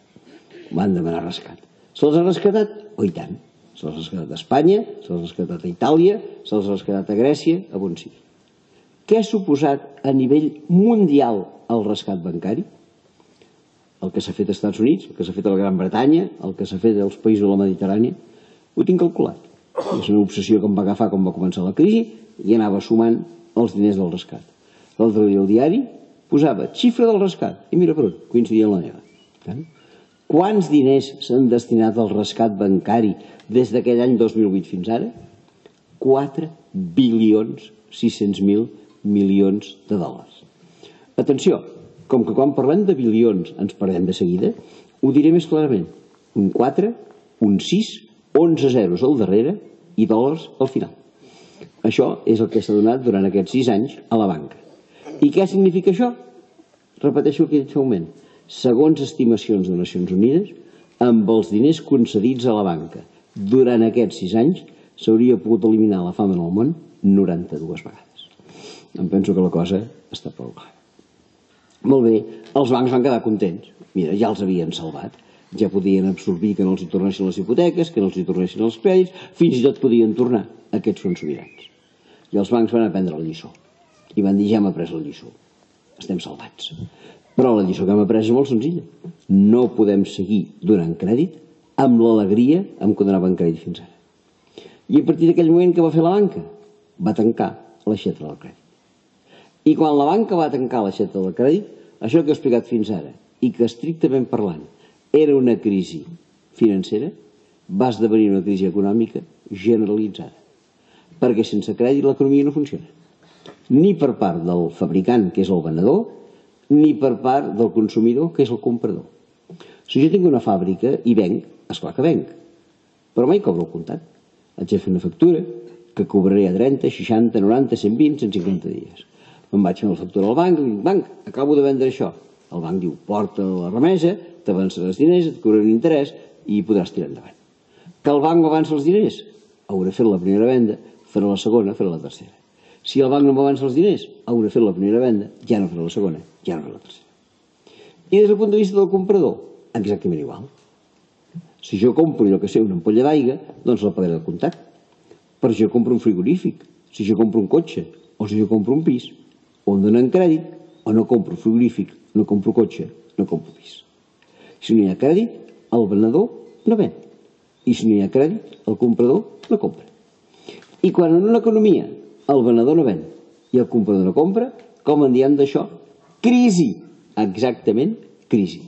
Van demanar rescat. Se'ls ha rescatat? Oh, i tant. Se'ls ha rescatat a Espanya, se'ls ha rescatat a Itàlia, se'ls ha rescatat a Grècia, a on sigui. Què ha suposat a nivell mundial el rescat bancari? El que s'ha fet als Estats Units, el que s'ha fet a la Gran Bretanya, el que s'ha fet als països de la Mediterrània, ho tinc calculat. És una obsessió que em va agafar quan va començar la crisi i anava sumant els diners del rescat. L'altre dia el diari posava xifra del rescat i mira per on, coincidia amb la meva. Quants diners s'han destinat al rescat bancari des d'aquell any dos mil vuit fins ara? quatre bilions sis-cents mil milions de dòlars. Atenció, com que quan parlem de bilions ens perdem de seguida, ho diré més clarament. Un quatre, un sis, onze zeros al darrere i dòlars al final. Això és el que s'ha donat durant aquests sis anys a la banca. I què significa això? Repeteixo el que he dit fa un moment. Segons estimacions de Nacions Unides, amb els diners concedits a la banca durant aquests sis anys s'hauria pogut eliminar la fam en el món noranta-dues vegades. Em penso que la cosa està prou clara. Molt bé, els bancs van quedar contents. Mira, ja els havien salvat. Ja podien absorbir que no els hi tornessin les hipoteques, que no els hi tornessin els crèdits, fins i tot podien tornar aquests fons sobirans. I els bancs van aprendre la lliçó. I van dir, ja hem après la lliçó. Estem salvats. Però la lliçó que hem après és molt senzilla. No podem seguir donant crèdit amb l'alegria amb què donaven crèdit fins ara. I a partir d'aquell moment que va fer la banca? Va tancar l'aixeta del crèdit. I quan la banca va tancar l'aixeta del crèdit, això que he explicat fins ara, i que estrictament parlant era una crisi financera, va esdevenir una crisi econòmica generalitzada. Perquè sense crèdit l'economia no funciona. Ni per part del fabricant, que és el venedor, ni per part del consumidor, que és el comprador. Si jo tinc una fàbrica i venc, esclar que venc, però mai cobro el comptat. Haig de fer una factura que cobraré a trenta, seixanta, noranta, cent vint, cent cinquanta dies. Me'n vaig fer la factura al banc i dic, banc, acabo de vendre això. El banc diu, porta la remesa, t'avançaràs diners, et cobraré un interès i podràs tirar endavant. Que el banc m'avança els diners? Hauré fet la primera venda, faré la segona, faré la tercera. Si el banc no m'avança els diners, hauré fet la primera venda, ja no faré la segona, ja no faré la tercera. I des del punt de vista del comprador, exactament igual. Si jo compro, jo que sé, una ampolla d'aigua, doncs la pagaré al comptat. Però si jo compro un frigorífic, si jo compro un cotxe, o si jo compro un pis, o em donen crèdit, o no compro frigorífic, no compro cotxe, no compro pis. Si no hi ha crèdit, el venedor no ven. I si no hi ha crèdit, el comprador no compra. I quan en una economia el venedor no ven I el comprador no compra, com en diem d'això? Crisi! Exactament, crisi.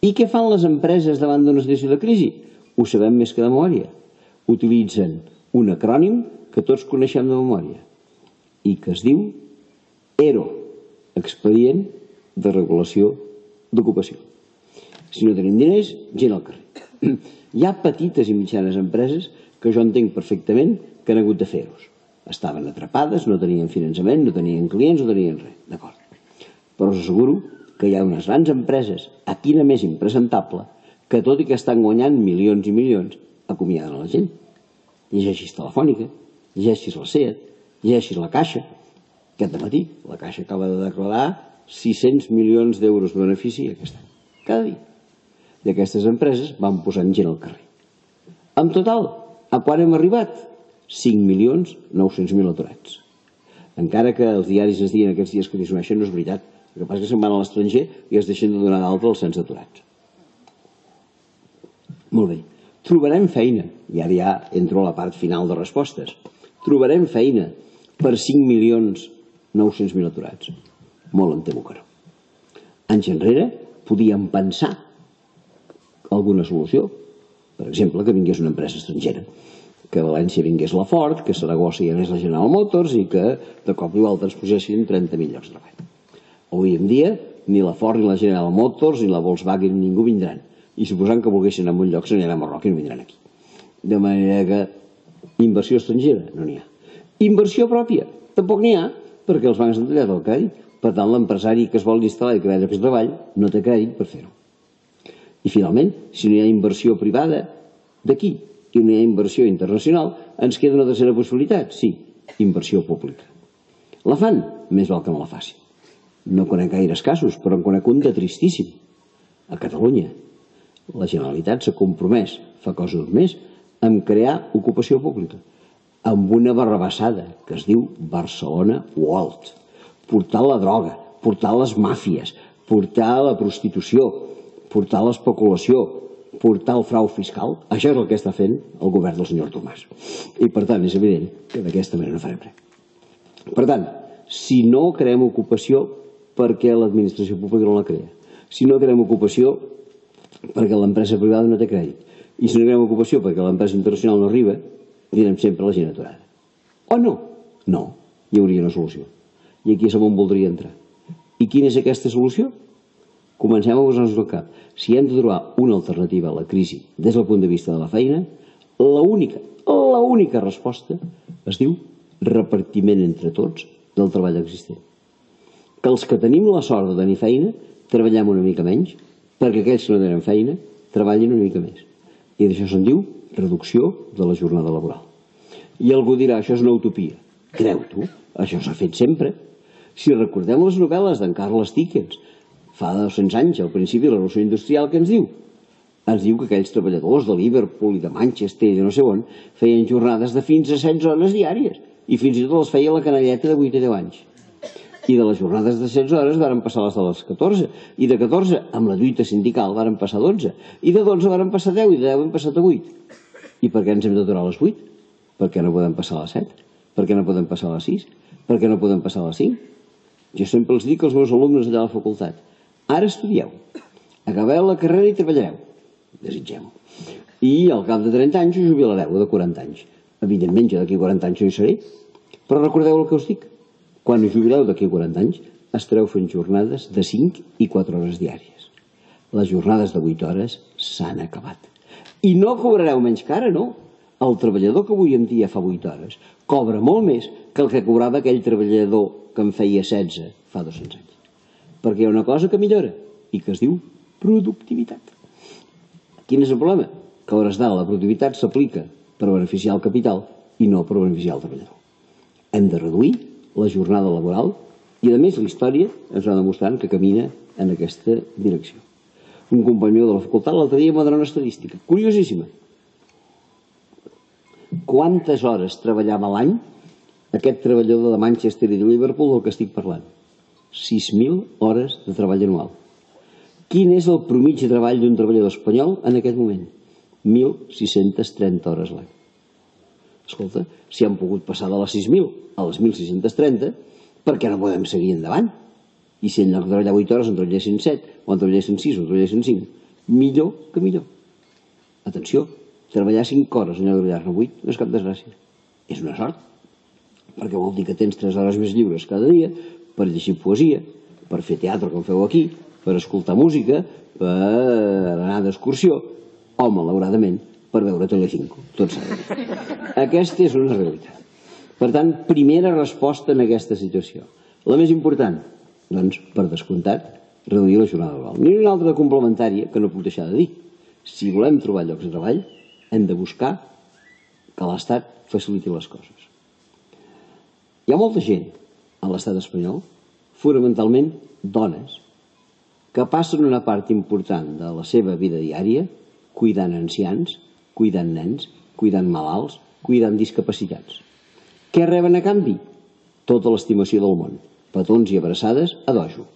I què fan les empreses davant d'una situació de crisi? Ho sabem més que de memòria. Utilitzen un acrònim que tots coneixem de memòria i que es diu E R O, Expedient de Regulació d'Ocupació. Si no tenim diners, gent al carrer. Hi ha petites i mitjanes empreses que jo entenc perfectament que han hagut de fer-los. Estaven atrapades, no tenien finançament, no tenien clients, no tenien res. D'acord. Però us asseguro que hi ha unes grans empreses, a quina més impresentable, que tot i que estan guanyant milions i milions, acomiaden la gent. Llegeixis Telefònica, llegeixis la SEAT, llegeixis la Caixa. Aquest dematí la Caixa acaba de declarar sis-cents milions d'euros de benefici aquest any, cada dia. I aquestes empreses van posant gent al carrer. En total, a quan hem arribat? cinc milions nou-cents mil aturats. Encara que els diaris ens diguin aquests dies que disminueixen, no és veritat. El que passa és que se'n van a l'estranger i es deixen de donar d'alta els cens d'aturats. Molt bé. Trobarem feina, i ara ja entro a la part final de respostes. Trobarem feina per cinc milions nou-cents mil aturats. Molt em temo que no. Anys enrere podíem pensar alguna solució. Per exemple, que vingués una empresa estrangera, que a València vingués la Ford, que a Saragossa hi anés la General Motors i que de cop i volta ens posessin trenta mil llocs de treball. Avui en dia ni la Ford ni la General Motors ni la Volkswagen ningú vindran. I suposant que volguessin anar a un lloc se n'aniran a Marroc i no vindran aquí. De manera que inversió estrangera no n'hi ha. Inversió pròpia tampoc n'hi ha, perquè els bancs han tallat el crèdit. Per tant, l'empresari que es vol instal·lar i crear llocs de treball no té crèdit per fer-ho. I finalment, si no hi ha inversió privada d'aquí i no hi ha inversió internacional, ens queda una tercera possibilitat, sí, inversió pública. La fan? Més val que no la facin. No conec gaires casos, però en conec un de tristíssim. A Catalunya, la Generalitat s'ha compromès, fa cosa d'un mes, a crear ocupació pública, amb una barrabassada que es diu Barcelona World. Portar la droga, portar les màfies, portar la prostitució, portar l'especulació, portar el frau fiscal. Això és el que està fent el govern del senyor Tomàs. I per tant és evident que d'aquesta manera no farem res. Per tant, si no creem ocupació, per què l'administració pública no la crea? Si no creem ocupació, perquè l'empresa privada no té crèdit. I si no creem ocupació perquè l'empresa internacional no arriba, direm sempre la gent aturada. O no? No, hi hauria una solució. I aquí és on voldria entrar. I quina és aquesta solució? Comencem a posar-nos al cap. Si hem de trobar una alternativa a la crisi des del punt de vista de la feina, l'única, l'única resposta es diu repartiment entre tots del treball existent. Que els que tenim la sort de tenir feina treballem una mica menys, perquè aquells que no tenen feina treballin una mica més. I d'això se'n diu reducció de la jornada laboral. I algú dirà, això és una utopia. Creu-t'ho, això s'ha fet sempre. Si recordem les novel·les d'en Charles Dickens, fa dos-cents anys, al principi de la Revolució Industrial, què ens diu? Ens diu que aquells treballadors de Liverpool i de Manchester i de no sé on feien jornades de fins a setze hores diàries i fins i tot les feia la canalleta de vuit a deu anys. I de les jornades de setze hores varen passar les de les catorze, i de catorze, amb la lluita sindical, varen passar dotze, i de dotze varen passar deu, i de deu hem passat a vuit. I per què ens hem d'aturar a les vuit? Per què no podem passar a les set? Per què no podem passar a les sis? Per què no podem passar a les cinc? Jo sempre els dic als meus alumnes allà a la facultat: ara estudieu, acabeu la carrera i treballareu, desitgem-ho, i al cap de trenta anys us jubilareu, o de quaranta anys. Evidentment, jo d'aquí quaranta anys no hi seré, però recordeu el que us dic: quan us jubileu d'aquí quaranta anys estareu fent jornades de cinc i quatre hores diàries. Les jornades de vuit hores s'han acabat. I no cobrareu menys que ara, no. El treballador que avui en dia fa vuit hores cobra molt més que el que cobrava aquell treballador que en feia setze fa dos-cents anys. Perquè hi ha una cosa que millora i que es diu productivitat. Quin és el problema? Que a hores d'ara la productivitat s'aplica per beneficiar el capital i no per beneficiar el treballador. Hem de reduir la jornada laboral i, a més, la història ens va demostrant que camina en aquesta direcció. Un company meu de la facultat l'altre dia m'ha donat una estadística curiosíssima. Quantes hores treballava l'any aquest treballador de Manchester i de Liverpool del que estic parlant? sis mil hores de treball anual. Quin és el promigi de treball d'un treballador espanyol en aquest moment? mil sis-centes trenta hores l'any. Escolta, si han pogut passar de les sis mil a les mil sis-cents trenta, per què no podem seguir endavant? I si en lloc de treballar vuit hores en treballessin set, o en treballessin sis, o en treballessin cinc, millor que millor. Atenció, treballar cinc hores en lloc de treballar-ne vuit no és cap desgràcia. És una sort, perquè vol dir que tens tres hores més lliures cada dia per llegir poesia, per fer teatre com feu aquí, per escoltar música, per anar d'excursió, o, malauradament, per veure Telecinco. Tot s'ha de dir. Aquesta és una realitat. Per tant, primera resposta en aquesta situació. La més important, doncs, per descomptat, reduir la jornada laboral. N'hi ha una altra complementària que no puc deixar de dir. Si volem trobar llocs de treball, hem de buscar que l'Estat faciliti les coses. Hi ha molta gent a l'estat espanyol, fonamentalment dones, que passen una part important de la seva vida diària cuidant ancians, cuidant nens, cuidant malalts, cuidant discapacitats. Què reben a canvi? Tota l'estimació del món. Petons i abraçades a dojo.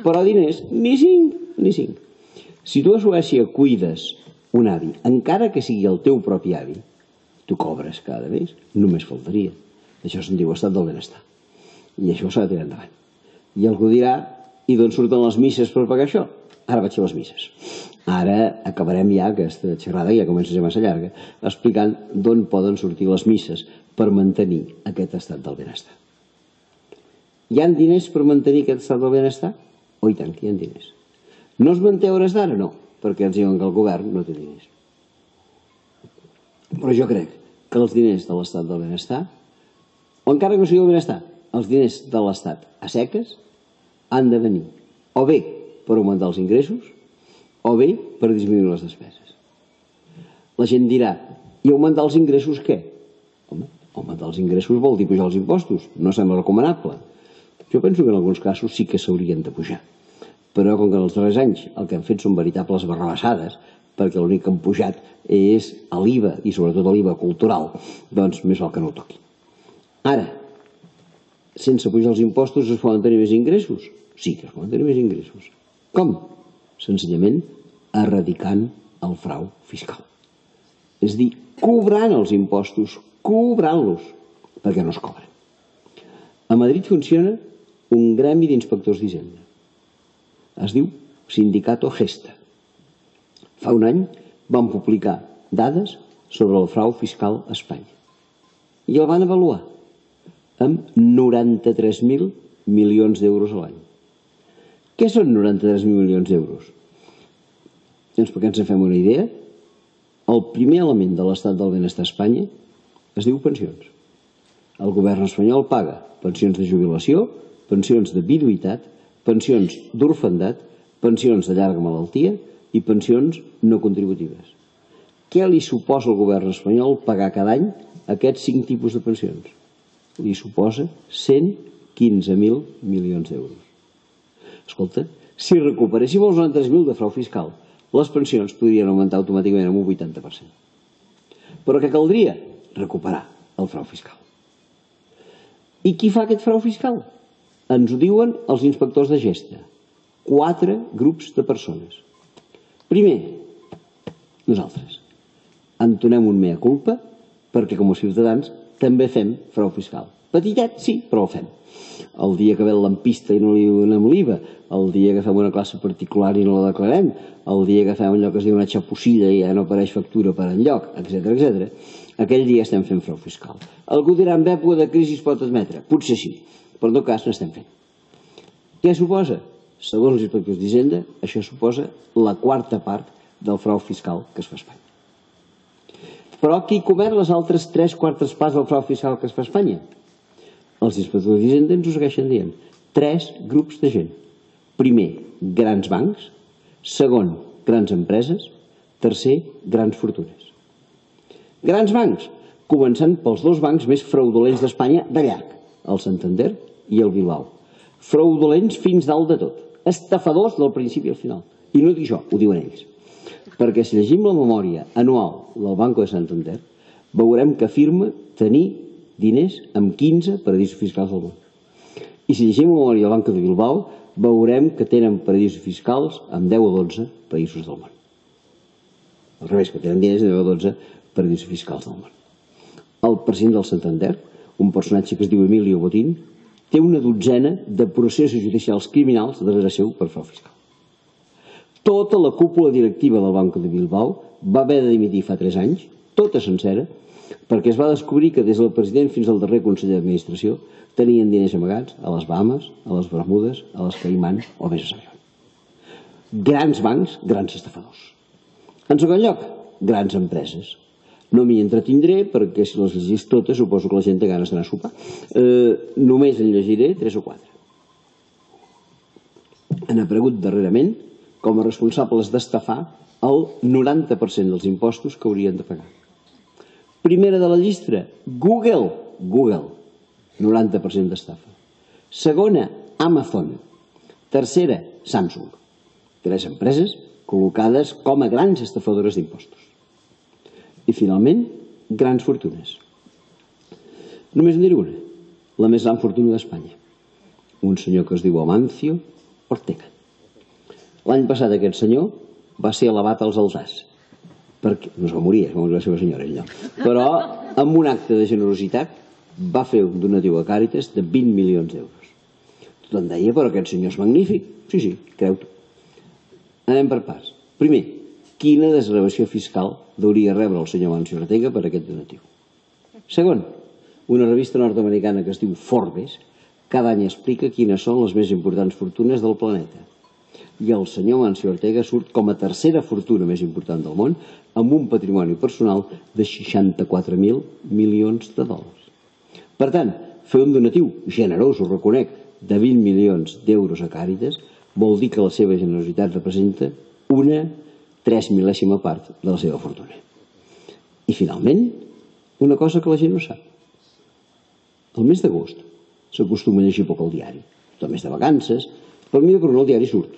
Però diners, ni cinc, ni cinc. Si tu a Suècia cuides un avi, encara que sigui el teu propi avi, tu cobres cada mes, només faltaria. Això se'n diu estat del benestar. I això s'ha de tirar endavant. I algú dirà, i d'on surten les misses per pagar això? Ara vaig a les misses. Ara acabarem ja aquesta xerrada, ja comença a ser massa llarga, explicant d'on poden sortir les misses per mantenir aquest estat del benestar. Hi ha diners per mantenir aquest estat del benestar? Oh, i tant, que hi ha diners. No es manté a hores d'ara? No, perquè ens diuen que el govern no té diners. Però jo crec que els diners de l'estat del benestar, o encara que no sigui el benestar, els diners de l'estat a seques han de venir o bé per augmentar els ingressos o bé per disminuir les despeses. La gent dirà, i augmentar els ingressos què? Home, augmentar els ingressos vol dir pujar els impostos, no sembla recomanable. Jo penso que en alguns casos sí que s'haurien de pujar, però com que en els darrers anys el que han fet són veritables barrabassades, perquè l'únic que han pujat és l'I V A i sobretot l'I V A cultural, doncs més val que no ho toqui. Ara, sense pujar els impostos es poden tenir més ingressos? Sí que es poden tenir més ingressos. Com? Senzillament erradicant el frau fiscal. És a dir, cobrant els impostos, cobrant-los, perquè no es cobren. A Madrid funciona un gremi d'inspectors d'Hisenda. Es diu Sindicato Gesta. Fa un any van publicar dades sobre el frau fiscal a Espanya. I el van avaluar amb noranta-tres mil milions d'euros a l'any. Què són noranta-tres mil milions d'euros? Doncs perquè ens en fem una idea, el primer element de l'estat del benestar a Espanya es diu pensions. El govern espanyol paga pensions de jubilació, pensions de viduïtat, pensions d'orfandat, pensions de llarga malaltia i pensions no contributives. Què li suposa al govern espanyol pagar cada any aquests cinc tipus de pensions? Li suposa cent quinze mil milions d'euros. Escolta, si recuperéssim els noranta-tres mil de frau fiscal, les pensions podrien augmentar automàticament en un vuitanta per cent. Però què caldria? Recuperar el frau fiscal. I qui fa aquest frau fiscal? Ens ho diuen els inspectors de Gesta. Quatre grups de persones. Primer, nosaltres. Entonem un mea culpa perquè com a ciutadans també fem frau fiscal. Petitet, sí, però el fem. El dia que ve el lampista i no li donem l'I V A, el dia que fem una classe particular i no la declarem, el dia que fem allò que es diu una xapussilla i ja no apareix factura per enlloc, etcètera, etcètera, aquell dia estem fent frau fiscal. Algú dirà, en època de crisi es pot admetre? Potser sí, però en tot cas no estem fent. Què suposa? Segons els inspectors d'Hisenda, això suposa la quarta part del frau fiscal que es fa a Espanya. Però qui comet les altres tres quartes parts del frau fiscal que es fa a Espanya? Els inspectors d'Hisenda ens ho segueixen dient. Tres grups de gent. Primer, grans bancs. Segon, grans empreses. Tercer, grans fortunes. Grans bancs, començant pels dos bancs més fraudulents d'Espanya de llarg, el Santander i el Bilbao. Fraudulents fins dalt de tot. Estafadors del principi al final. I no dic jo, ho diuen ells. Perquè si llegim la memòria anual del Banco de Santander, veurem que afirma tenir diners amb quinze paradisos fiscals del món. I si llegim la memòria del Banco de Bilbao, veurem que tenen paradisos fiscals amb deu o dotze països del món. Al revés, que tenen diners amb deu o dotze paradisos fiscals del món. el president del Santander, un personatge que es diu Emilio Botín, té una dotzena de processos judicials criminals darrere seu per frau fiscal. Tota la cúpula directiva del Banco de Bilbao va haver de dimitir fa tres anys, tota sencera, perquè es va descobrir que des del president fins al darrer conseller d'administració tenien diners amagats a les Bahamas, a les Bermudes, a les Caimán o més a saber. Grans bancs, grans estafadors. En segon lloc, grans empreses. No m'hi entretindré perquè si les llegís totes suposo que la gent té ganes d'anar a sopar. Eh, només en llegiré tres o quatre. Han aparegut darrerament com a responsables d'estafar el noranta per cent dels impostos que haurien de pagar. Primera de la llista, Google. Google, noranta per cent d'estafa. Segona, Amazon. Tercera, Samsung. Tres empreses col·locades com a grans estafadores d'impostos. I finalment, grans fortunes. Només en diré una, la més gran fortuna d'Espanya. Un senyor que es diu Amancio Ortega. L'any passat aquest senyor va ser elevat als alzars. Perquè, no es va morir, es va morir la seva senyora, ell no. Però amb un acte de generositat va fer un donatiu a Càritas de vint milions d'euros. Tothom deia, però aquest senyor és magnífic. Sí, sí, creu-t'ho. Anem per parts. Primer, quina desgravació fiscal hauria rebre el senyor Amancio Ortega per aquest donatiu? Segon, una revista nord-americana que es diu Forbes cada any explica quines són les més importants fortunes del planeta. I el senyor Amancio Ortega surt com a tercera fortuna més important del món amb un patrimoni personal de seixanta-quatre mil milions de dòlars. Per tant, fer un donatiu generós, ho reconec, de vint milions d'euros a Càritas vol dir que la seva generositat representa una tres mil·lèsima part de la seva fortuna. I finalment, una cosa que la gent no sap. El mes d'agost s'acostuma a llegir poc al diari. Tot el mes de vacances, però mira per on el diari surt.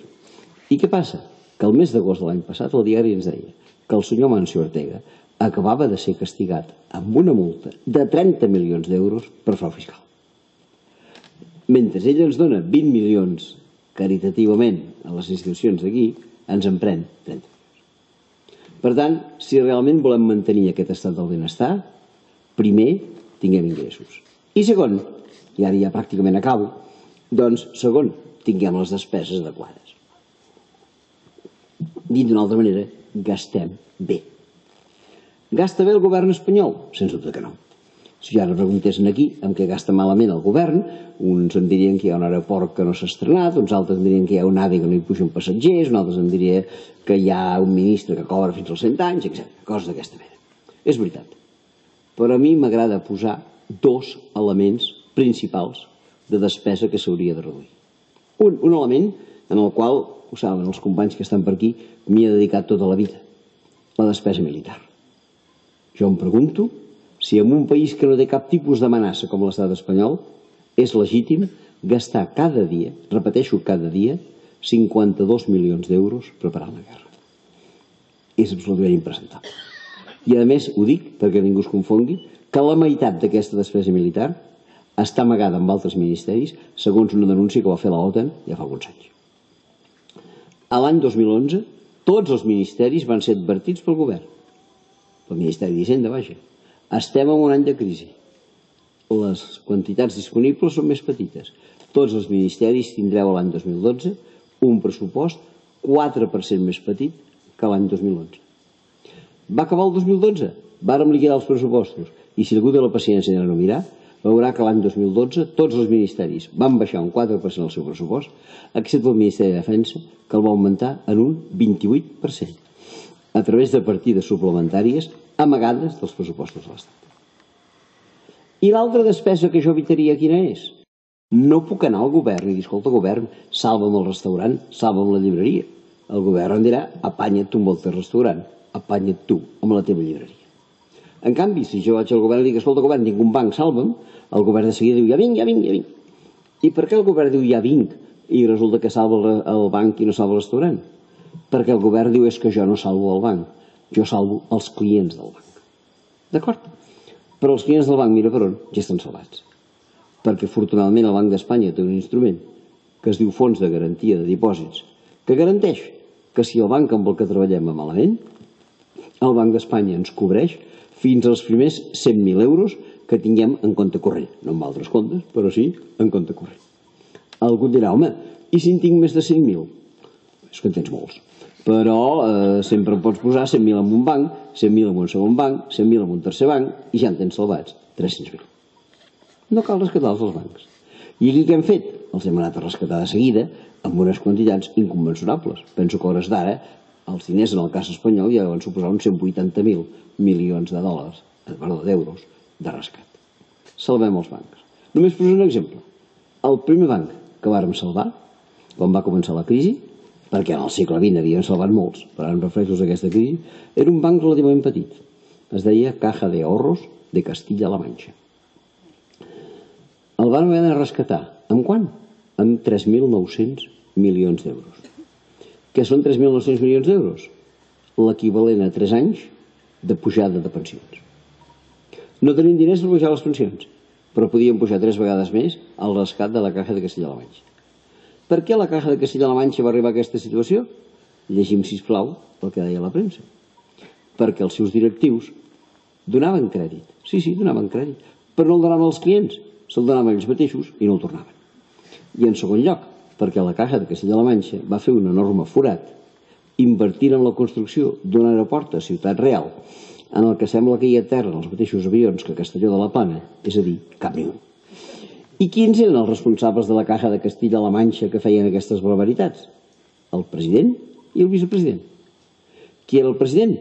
I què passa? Que el mes d'agost de l'any passat el diari ens deia que el senyor Amancio Ortega acabava de ser castigat amb una multa de trenta milions d'euros per frau fiscal. Mentre ell ens dona vint milions caritativament a les institucions d'aquí, ens en pren trenta milions. Per tant, si realment volem mantenir aquest estat del benestar, primer tinguem ingressos. I segon, i ara ja pràcticament acabo, doncs segon, tinguem les despeses adequades. Dit d'una altra manera, gastem bé. Gasta bé el govern espanyol? Sens dubte que no. Si ara preguntessin aquí amb què gasta malament el govern, uns em dirien que hi ha un aeroport que no s'ha estrenat, uns altres em dirien que hi ha un AVE que no hi pugen passatgers, uns altres em dirien que hi ha un ministre que cobra fins als cent anys, etcètera. Coses d'aquesta mena. És veritat. Però a mi m'agrada posar dos elements principals de despesa que s'hauria de reduir. Un, un element en el qual, ho saben els companys que estan per aquí, m'hi he dedicat tota la vida, la despesa militar. Jo em pregunto si en un país que no té cap tipus d'amenaça com l'estat espanyol és legítim gastar cada dia, repeteixo cada dia, cinquanta-dos milions d'euros preparant la guerra. És absolutament impresentable. I a més, ho dic perquè ningú es confongui, que la meitat d'aquesta despesa militar està amagada amb altres ministeris, segons una denúncia que va fer l'OTAN ja fa alguns anys. A l'any dos mil onze, tots els ministeris van ser advertits pel govern. El Ministeri d'Hisenda, vaja. Estem en un any de crisi. Les quantitats disponibles són més petites. Tots els ministeris tindreu l'any dos mil dotze un pressupost quatre per cent més petit que l'any dos mil onze. Va acabar el dos mil dotze, vàrem liquidar els pressupostos i si algú té la paciència de no mirar, veurà que l'any dos mil dotze tots els ministeris van baixar un quatre per cent el seu pressupost, excepte el Ministeri de Defensa, que el va augmentar en un vint-i-vuit per cent, a través de partides suplementàries amagades dels pressupostos de l'Estat. I l'altra despesa que jo evitaria quina és? No puc anar al govern i dir, escolta, govern, salva'm el restaurant, salva'm la llibreria. El govern em dirà, apanya't tu amb el teu restaurant, apanya't tu amb la teva llibreria. En canvi, si jo vaig al govern i dic, escolta, govern, tinc un banc, salva'm, el govern de seguida diu, ja vinc, ja vinc, ja vinc. I per què el govern diu, ja vinc, i resulta que salva el banc i no salva el restaurant? Perquè el govern diu, és que jo no salvo el banc, jo salvo els clients del banc. D'acord? Però els clients del banc, mira per on, ja estan salvats. Perquè afortunadament el Banc d'Espanya té un instrument que es diu Fons de Garantia de Dipòsits, que garanteix que si el banc amb el que treballem va malament, el Banc d'Espanya ens cobreix fins als primers cent mil euros que tinguem en compte corrent. No en altres comptes, però sí en compte corrent. Algú dirà, home, i si en tinc més de cent mil? És que en tens molts. Però eh, sempre pots posar cent mil en un banc, cent mil en un segon banc, cent mil en un tercer banc i ja en tens salvats tres-cents mil. No cal rescatar-los als bancs. I aquí què hem fet? Els hem anat a rescatar de seguida amb unes quantitats inconmensurables. Penso que a hores d'ara els diners en el cas espanyol ja van suposar uns cent vuitanta mil milions de dòlars, perdó, d'euros, de rescat. Salvem els bancs. Només posaré un exemple. El primer banc que vàrem salvar, quan va començar la crisi, perquè en el segle vint havíem salvat molts, però ara em refereixo a aquesta crisi, era un banc relativament petit. Es deia Caja de Ahorros de Castilla-La Manxa. El van haver de rescatar. Amb quant? Amb tres mil nou-cents milions d'euros. Què són tres mil nou-cents milions d'euros? L'equivalent a tres anys de pujada de pensions. No tenim diners per pujar les pensions, però podíem pujar tres vegades més el rescat de la Caja de Castilla-La Manxa. Per què la Caja de Castilla-La Manxa va arribar a aquesta situació? Llegim, sisplau, el que deia la premsa. Perquè els seus directius donaven crèdit. Sí, sí, donaven crèdit. Però no el donaven als clients, se'l donaven ells mateixos i no el tornaven. I en segon lloc, perquè la Caja de Castilla-La Manxa va fer un enorme forat invertint en la construcció d'un aeroport a Ciutat Real en el que sembla que hi aterren els mateixos avions que a Castelló de la Plana, és a dir, cap ni un. I quins eren els responsables de la Caja de Castilla-La Manxa que feien aquestes barbaritats? El president i el vicepresident. Qui era el president?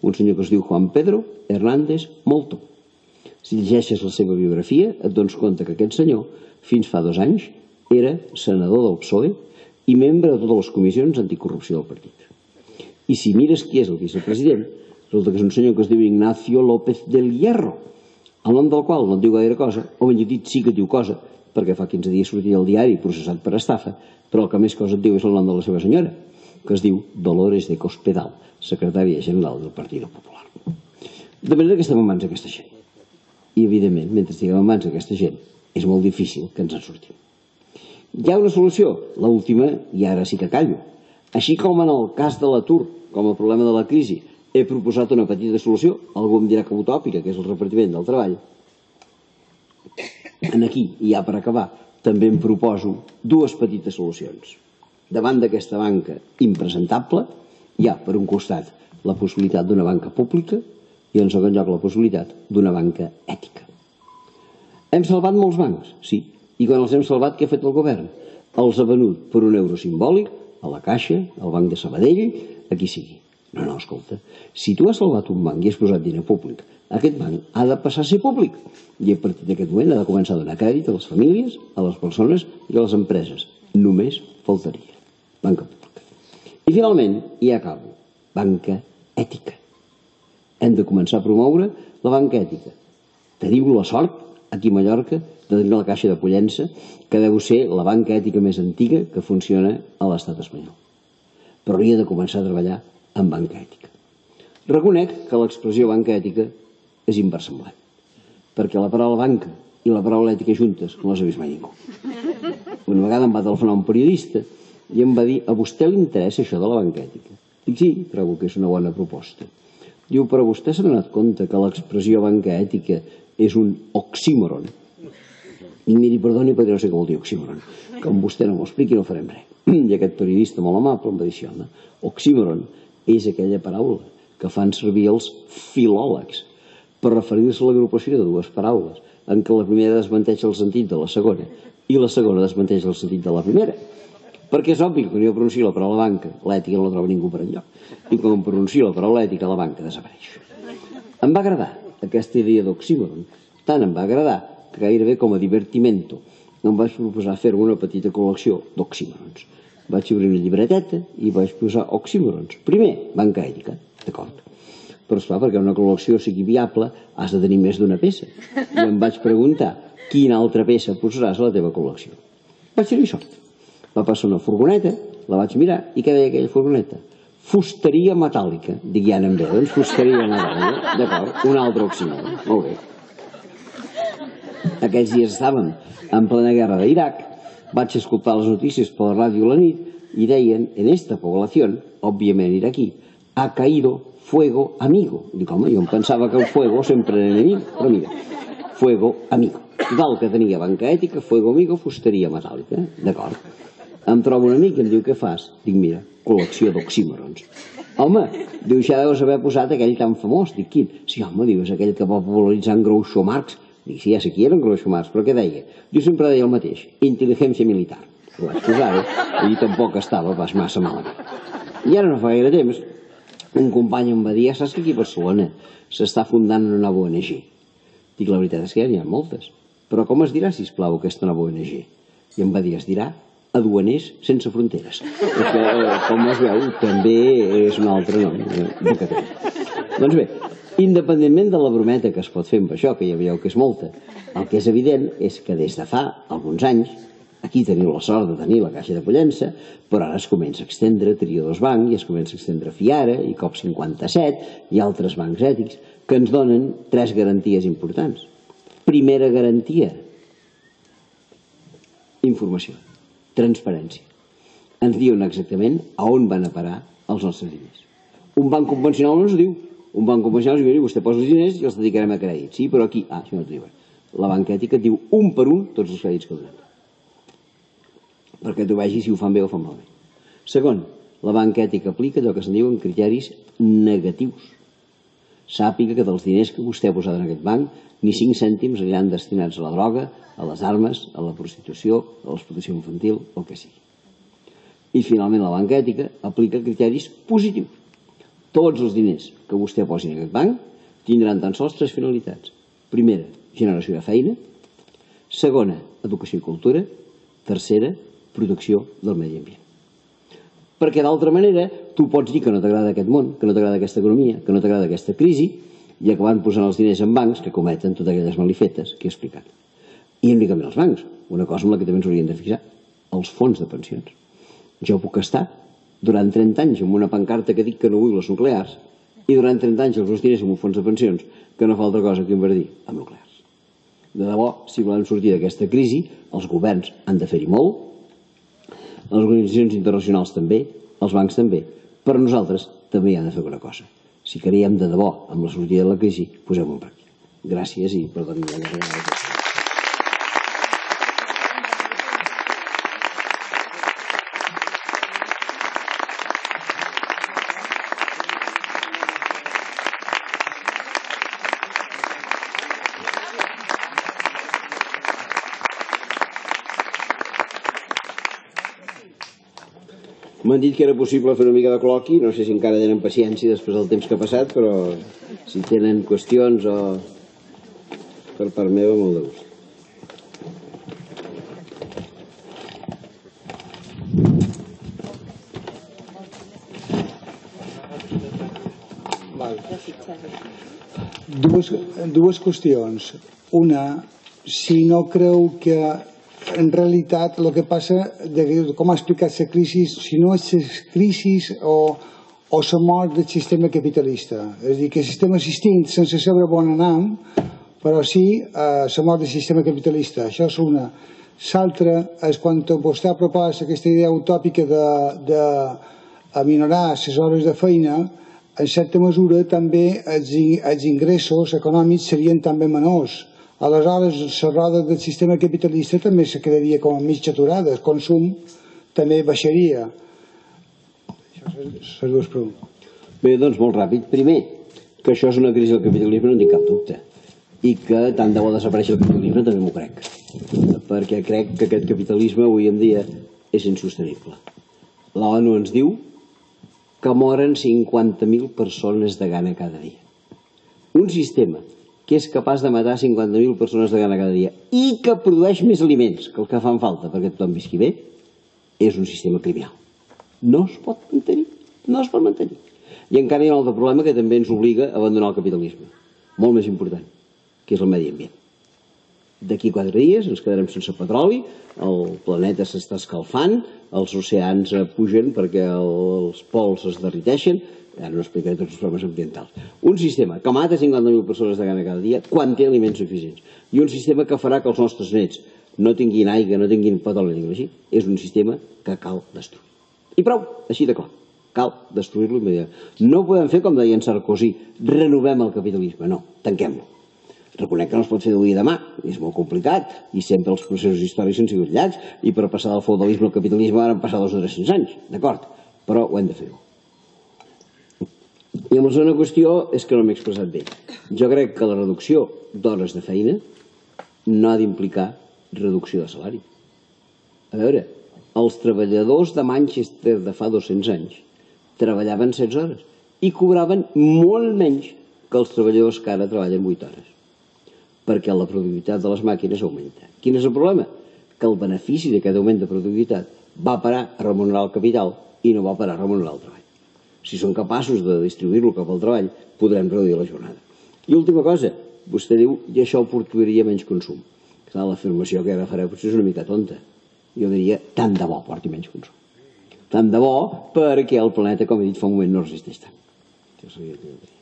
Un senyor que es diu Juan Pedro Hernández Molto. Si llegeixes la seva biografia et dones compte que aquest senyor, fins fa dos anys, era senador del P S O E i membre de totes les comissions anticorrupció del partit. I si mires qui és el vicepresident, resulta que és un senyor que es diu Ignacio López del Hierro, el nom del qual no et diu gaire cosa, o ben dit sí que et diu cosa, perquè fa quinze dies sortia al diari processat per estafa, però el que més cosa et diu és el nom de la seva senyora, que es diu Dolores de Cospedal, secretària general del Partit Popular. De manera que estem en mans d'aquesta gent. I, evidentment, mentre estiguem en mans d'aquesta gent, és molt difícil que ens en sortim. Hi ha una solució, l'última, i ara sí que callo. Així com en el cas de l'atur, com a problema de la crisi, he proposat una petita solució, algú em dirà que utòpica, que és el repartiment del treball. En aquí, i ja per acabar, també em proposo dues petites solucions. Davant d'aquesta banca impresentable, hi ha, per un costat, la possibilitat d'una banca pública i, en segon lloc, la possibilitat d'una banca ètica. Hem salvat molts bancs, sí. I quan els hem salvat, què ha fet el govern? Els ha venut per un euro simbòlic a la Caixa, al Banc de Sabadell, a qui sigui. No, no, escolta, si tu has salvat un banc i has posat diner públic, aquest banc ha de passar a ser públic. I a partir d'aquest moment ha de començar a donar crèdit a les famílies, a les persones i a les empreses. Només faltaria. Banca pública. I finalment, i acabo, banca ètica. Hem de començar a promoure la banca ètica. Teniu la sort, aquí a Mallorca, de tenir la Caixa de Pollença, que deu ser la banca ètica més antiga que funciona a l'estat espanyol. Però hauria de començar a treballar en banca ètica. Reconec que l'expressió banca ètica és inversemblant, perquè la paraula banca i la paraula ètica juntes no les ha vist mai ningú. Una vegada em va telefonar un periodista i em va dir: a vostè li interessa això de la banca ètica? Dic, sí, trobo que és una bona proposta. Diu, però vostè s'ha donat compte que l'expressió banca ètica és un oxímoron? I miri, perdoni, però no sé què vol dir oxímoron. Com vostè no m'ho expliqui, no farem res. I aquest periodista molt amable em va dir això, no? Oxímoron és aquella paraula que fan servir els filòlegs per referir-se a l'agrupació de dues paraules, en què la primera desmenteix el sentit de la segona i la segona desmenteix el sentit de la primera. Perquè és obvi que quan jo pronuncio la paraula banca, l'ètica no la troba ningú per enlloc. I quan pronuncio la paraula ètica, la banca desapareix. Em va agradar aquesta idea d'oxímoron. Tant em va agradar que gairebé com a divertimento em vaig proposar fer una petita col·lecció d'oxímorons. Vaig obrir una llibreteta i vaig posar oxímorons. Primer, banca ètica, d'acord. Però esclar, perquè una col·lecció sigui viable has de tenir més d'una peça. I em vaig preguntar quina altra peça posaràs a la teva col·lecció. Vaig tenir sort. Va passar una furgoneta, la vaig mirar i què deia aquella furgoneta? Fusteria metàl·lica. Dic, ja anem bé, doncs fusteria metàl·lica. D'acord, un altre oxímoron. Molt bé. Aquells dies estàvem en plena guerra d'Iraq, vaig escoltar les notícies per la ràdio a la nit i deien, en esta población, òbviament iraquí, ha caído fuego amigo. Dic, home, jo em pensava que el fuego sempre era enemic, però mira, fuego amigo. Total, que tenia banca ètica, fuego amigo, fusteria metàl·lica, d'acord. Em trobo un amic i em diu, què fas? Dic, mira, col·lecció d'oxímorons. Home, diu, ja deus haver posat aquell tan famós. Dic, quin? Sí, home, diu, és aquell que va popularitzar en Groucho Marx. Dic, sí, ja sé qui era en Groucho Marx, però què deia? Diu, sempre deia el mateix, intel·ligència militar. Ho vaig posar-ho i tampoc estava pas massa malament. I ara no fa gaire temps, un company em va dir, saps que aquí a Barcelona s'està fundant una nova O N G? Dic, la veritat és que ja n'hi ha moltes. Però com es dirà, sisplau, aquesta nova O N G? I em va dir, es dirà Aduaners Sense Fronteres. Que, com es veu, també és un altre nom de Catalunya. Doncs bé, independentment de la brometa que es pot fer amb això, que ja veieu que és molta, el que és evident és que des de fa alguns anys, aquí teniu la sort de tenir la Caixa de Pollença, però ara es comença a extendre Triodos Bank i es comença a extendre Fiara i COP cinquanta-set i altres bancs ètics que ens donen tres garanties importants. Primera garantia, informació, transparència. Ens diuen exactament a on van a parar els nostres diners. Un banc convencional no ens ho diu. Un banc convencional ens diu, vostè posa els diners i els dedicarem a crèdit. Sí, però aquí, ah, això no t'ho diuen. La banca ètica et diu un per un tots els crèdits que donen. Perquè tu vegis si ho fan bé o fan malament. Segon, la banca ètica aplica allò que se'n diuen criteris negatius. Sàpiga que dels diners que vostè ha posat en aquest banc, ni cinc cèntims aniran destinats a la droga, a les armes, a la prostitució, a l'explotació infantil, o el que sigui. I finalment la banca ètica aplica criteris positius. Tots els diners que vostè posi en aquest banc tindran tan sols tres finalitats. Primera, generació de feina. Segona, educació i cultura. Tercera, protecció del medi ambient. Perquè d'altra manera tu pots dir que no t'agrada aquest món, que no t'agrada aquesta economia, que no t'agrada aquesta crisi i acabant posant els diners en bancs que cometen totes aquelles malifetes que he explicat. I únicament els bancs, una cosa amb la que també ens hauríem de fixar, els fons de pensions. Jo puc estar durant trenta anys amb una pancarta que dic que no vull les nuclears i durant trenta anys els meus diners en un fons de pensions que no fa altra cosa que invertir en nuclears. De debò, si volem sortir d'aquesta crisi, els governs han de fer-hi molt, les organitzacions internacionals també, els bancs també, però nosaltres també hi hem de fer alguna cosa. Si creiem de debò amb la sortida de la crisi, posem-ho en pràctica. Gràcies i perdoni la vegada. M'han dit que era possible fer una mica de col·loqui, no sé si encara tenen paciència després del temps que ha passat, però si tenen qüestions o per part meva, molt de gust. Dues, dues qüestions. Una, si no creu que en realitat el que passa, de, com ha explicat la crisi, si no és la crisi o, o la mort del sistema capitalista. És a dir, que el sistema existint sense saber on anem, però sí eh, la mort del sistema capitalista. Això és una. L'altra és quan vostè ha propòs aquesta idea utòpica d'aminorar les hores de feina, en certa mesura també els, els ingressos econòmics serien també menors. Aleshores, la roda del sistema capitalista també se quedaria com a mig aturada, el consum també baixaria. Això són les dues preguntes. Bé, doncs molt ràpid. Primer, que això és una crisi del capitalisme, no en tinc cap dubte. I que tant de bo desapareixi el capitalisme també m'ho crec. Perquè crec que aquest capitalisme avui en dia és insostenible. La ONU ens diu que moren cinquanta mil persones de gana cada dia. Un sistema que és capaç de matar cinquanta mil persones de gana cada dia i que produeix més aliments que els que fan falta perquè tothom visqui bé, és un sistema criminal. No es pot mantenir, no es pot mantenir. I encara hi ha un altre problema que també ens obliga a abandonar el capitalisme, molt més important, que és el medi ambient. D'aquí quatre dies ens quedarem sense petroli, el planeta s'està escalfant, els oceans pugen perquè els pols es derriteixen, ara no explicaré tots els problemes ambientals. Un sistema que mata cinquanta mil persones de gana cada dia quan té aliments suficients. I un sistema que farà que els nostres nets no tinguin aigua, no tinguin petroli, ni així. És un sistema que cal destruir. I prou, així de clar. cal destruir-lo immediatament. No podem fer, com deia en Sarkozy, renovem el capitalisme, no, tanquem-lo. Reconec que no es pot fer d'avui a demà, és molt complicat, i sempre els processos històrics han sigut llargs, i per passar del feudalisme al capitalisme van passar dos o tres-cents anys, d'acord, però ho hem de fer. I amb la segona qüestió és que no m'he expressat bé. Jo crec que la reducció d'hores de feina no ha d'implicar reducció de salari. A veure, els treballadors de Manchester de fa dos-cents anys treballaven setze hores i cobraven molt menys que els treballadors que ara treballen vuit hores, perquè la productivitat de les màquines augmenta. Quin és el problema? Que el benefici d'aquest augment de productivitat va parar a remunerar el capital i no va parar a remunerar el treball. Si som capaços de distribuir-lo cap al treball, podrem reduir la jornada. I última cosa, vostè diu i això portaria menys consum. Clar, l'afirmació que ara fareu potser és una mica tonta. Jo diria, tant de bo porti menys consum. Tant de bo perquè el planeta, com he dit fa un moment, no resisteix tant. Això seria el que jo diria.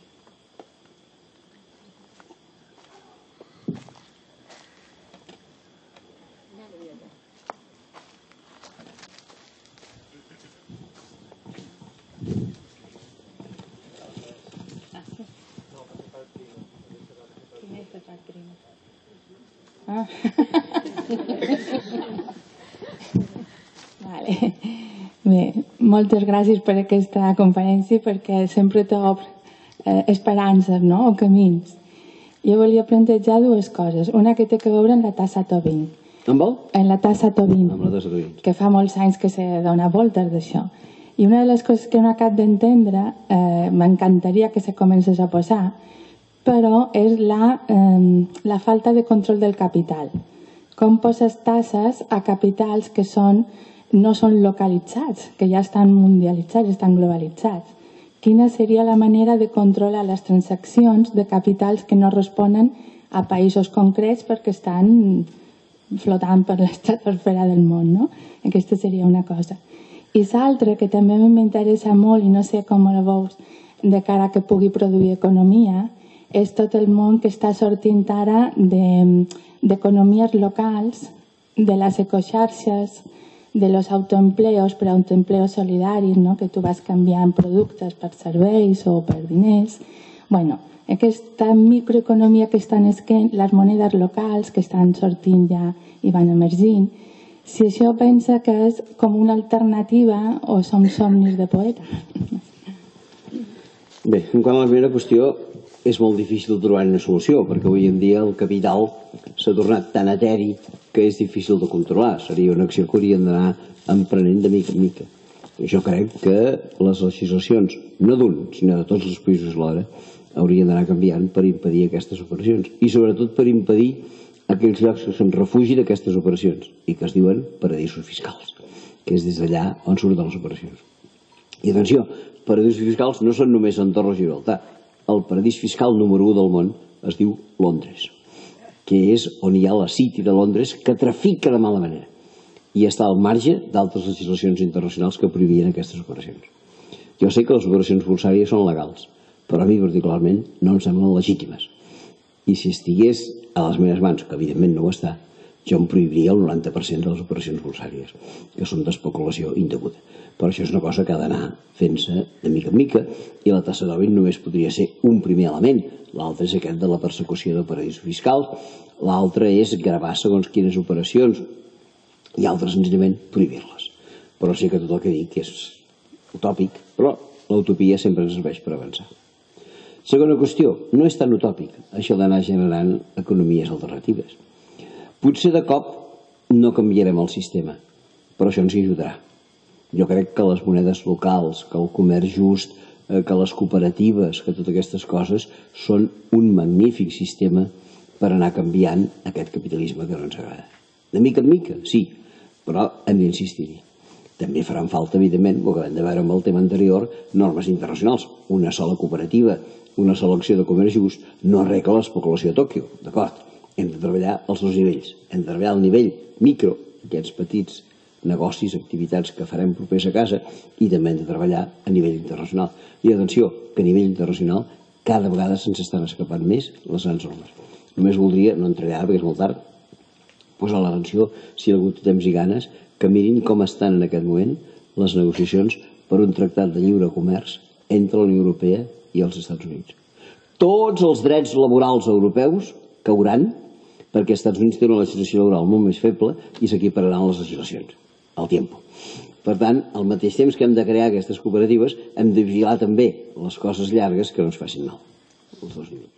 Ah. Vale. Bé, moltes gràcies per aquesta conferència perquè sempre t'obre eh, esperances, no? O camins. Jo volia plantejar dues coses. Una que té que veure amb la tassa Tobin. Amb vol? En la tassa Tobin. Amb la tassa Tobin. Que fa molts anys que se dona voltes d'això. I una de les coses que no acabo d'entendre, eh, m'encantaria que se comencés a posar, però és la, eh, la falta de control del capital. Com poses tasses a capitals que són, no són localitzats, que ja estan mundialitzats, estan globalitzats. Quina seria la manera de controlar les transaccions de capitals que no responen a països concrets perquè estan flotant per l'estratosfera del món, no? Aquesta seria una cosa. I l'altra, que també m'interessa molt i no sé com la veus de cara que pugui produir economia, és tot el món que està sortint ara d'economies de, locals, de les ecoxarxes, de los autoempleos, però autoempleos solidaris, no? Que tu vas canviant productes per serveis o per diners. Bueno, aquesta microeconomia que estan esquent, les monedes locals que estan sortint ja i van emergint, si això pensa que és com una alternativa o som somnis de poeta? Bé, en quant a la primera qüestió, és molt difícil trobar una solució, perquè avui en dia el capital s'ha tornat tan eteri que és difícil de controlar. Seria una acció que hauríem d'anar emprenent de mica en mica. Jo crec que les legislacions, no d'un, sinó de tots els països alhora, haurien d'anar canviant per impedir aquestes operacions. I sobretot per impedir aquells llocs que són refugi d'aquestes operacions i que es diuen paradisos fiscals, que és des d'allà on surten les operacions. I atenció, paradisos fiscals no són només Andorra o Gibraltar. El paradís fiscal número u del món es diu Londres, que és on hi ha la City de Londres que trafica de mala manera i està al marge d'altres legislacions internacionals que prohibien aquestes operacions. Jo sé que les operacions borsàries són legals, però a mi particularment no em semblen legítimes. I si estigués a les meves mans, que evidentment no ho està, jo em prohibiria el noranta per cent de les operacions borsàries, que són d'especulació indeguda. Però això és una cosa que ha d'anar fent-se de mica en mica i la tassa Tobin només podria ser un primer element. L'altre és aquest de la persecució de paradisos fiscals, l'altre és gravar segons quines operacions i altres senzillament prohibir-les. Però sí que tot el que dic és utòpic, però l'utopia sempre ens serveix per avançar. Segona qüestió, no és tan utòpic això d'anar generant economies alternatives. Potser de cop no canviarem el sistema, però això ens hi ajudarà. Jo crec que les monedes locals, que el comerç just, que les cooperatives, que totes aquestes coses són un magnífic sistema per anar canviant aquest capitalisme que no ens agrada. De mica en mica, sí, però hem d'insistir-hi. També faran falta, evidentment, ho acabem de veure amb el tema anterior, normes internacionals. Una sola cooperativa, una sola acció de comerç just no arregla l'especulació a Tòquio, d'acord? Hem de treballar als dos nivells. Hem de treballar al nivell micro, aquests petits negocis, activitats que farem propers a casa, i també hem de treballar a nivell internacional. I atenció, que a nivell internacional cada vegada se'ns estan escapant més les grans normes. Només voldria, no entraré ara perquè és molt tard, posar l'atenció, si algú té temps i ganes, que mirin com estan en aquest moment les negociacions per un tractat de lliure comerç entre la Unió Europea i els Estats Units. Tots els drets laborals europeus cauran perquè els Estats Units tenen una legislació laboral molt més feble i s'equipararan les legislacions al temps. Per tant, al mateix temps que hem de crear aquestes cooperatives, hem de vigilar també les coses llargues que no ens facin mal. Els dos minuts.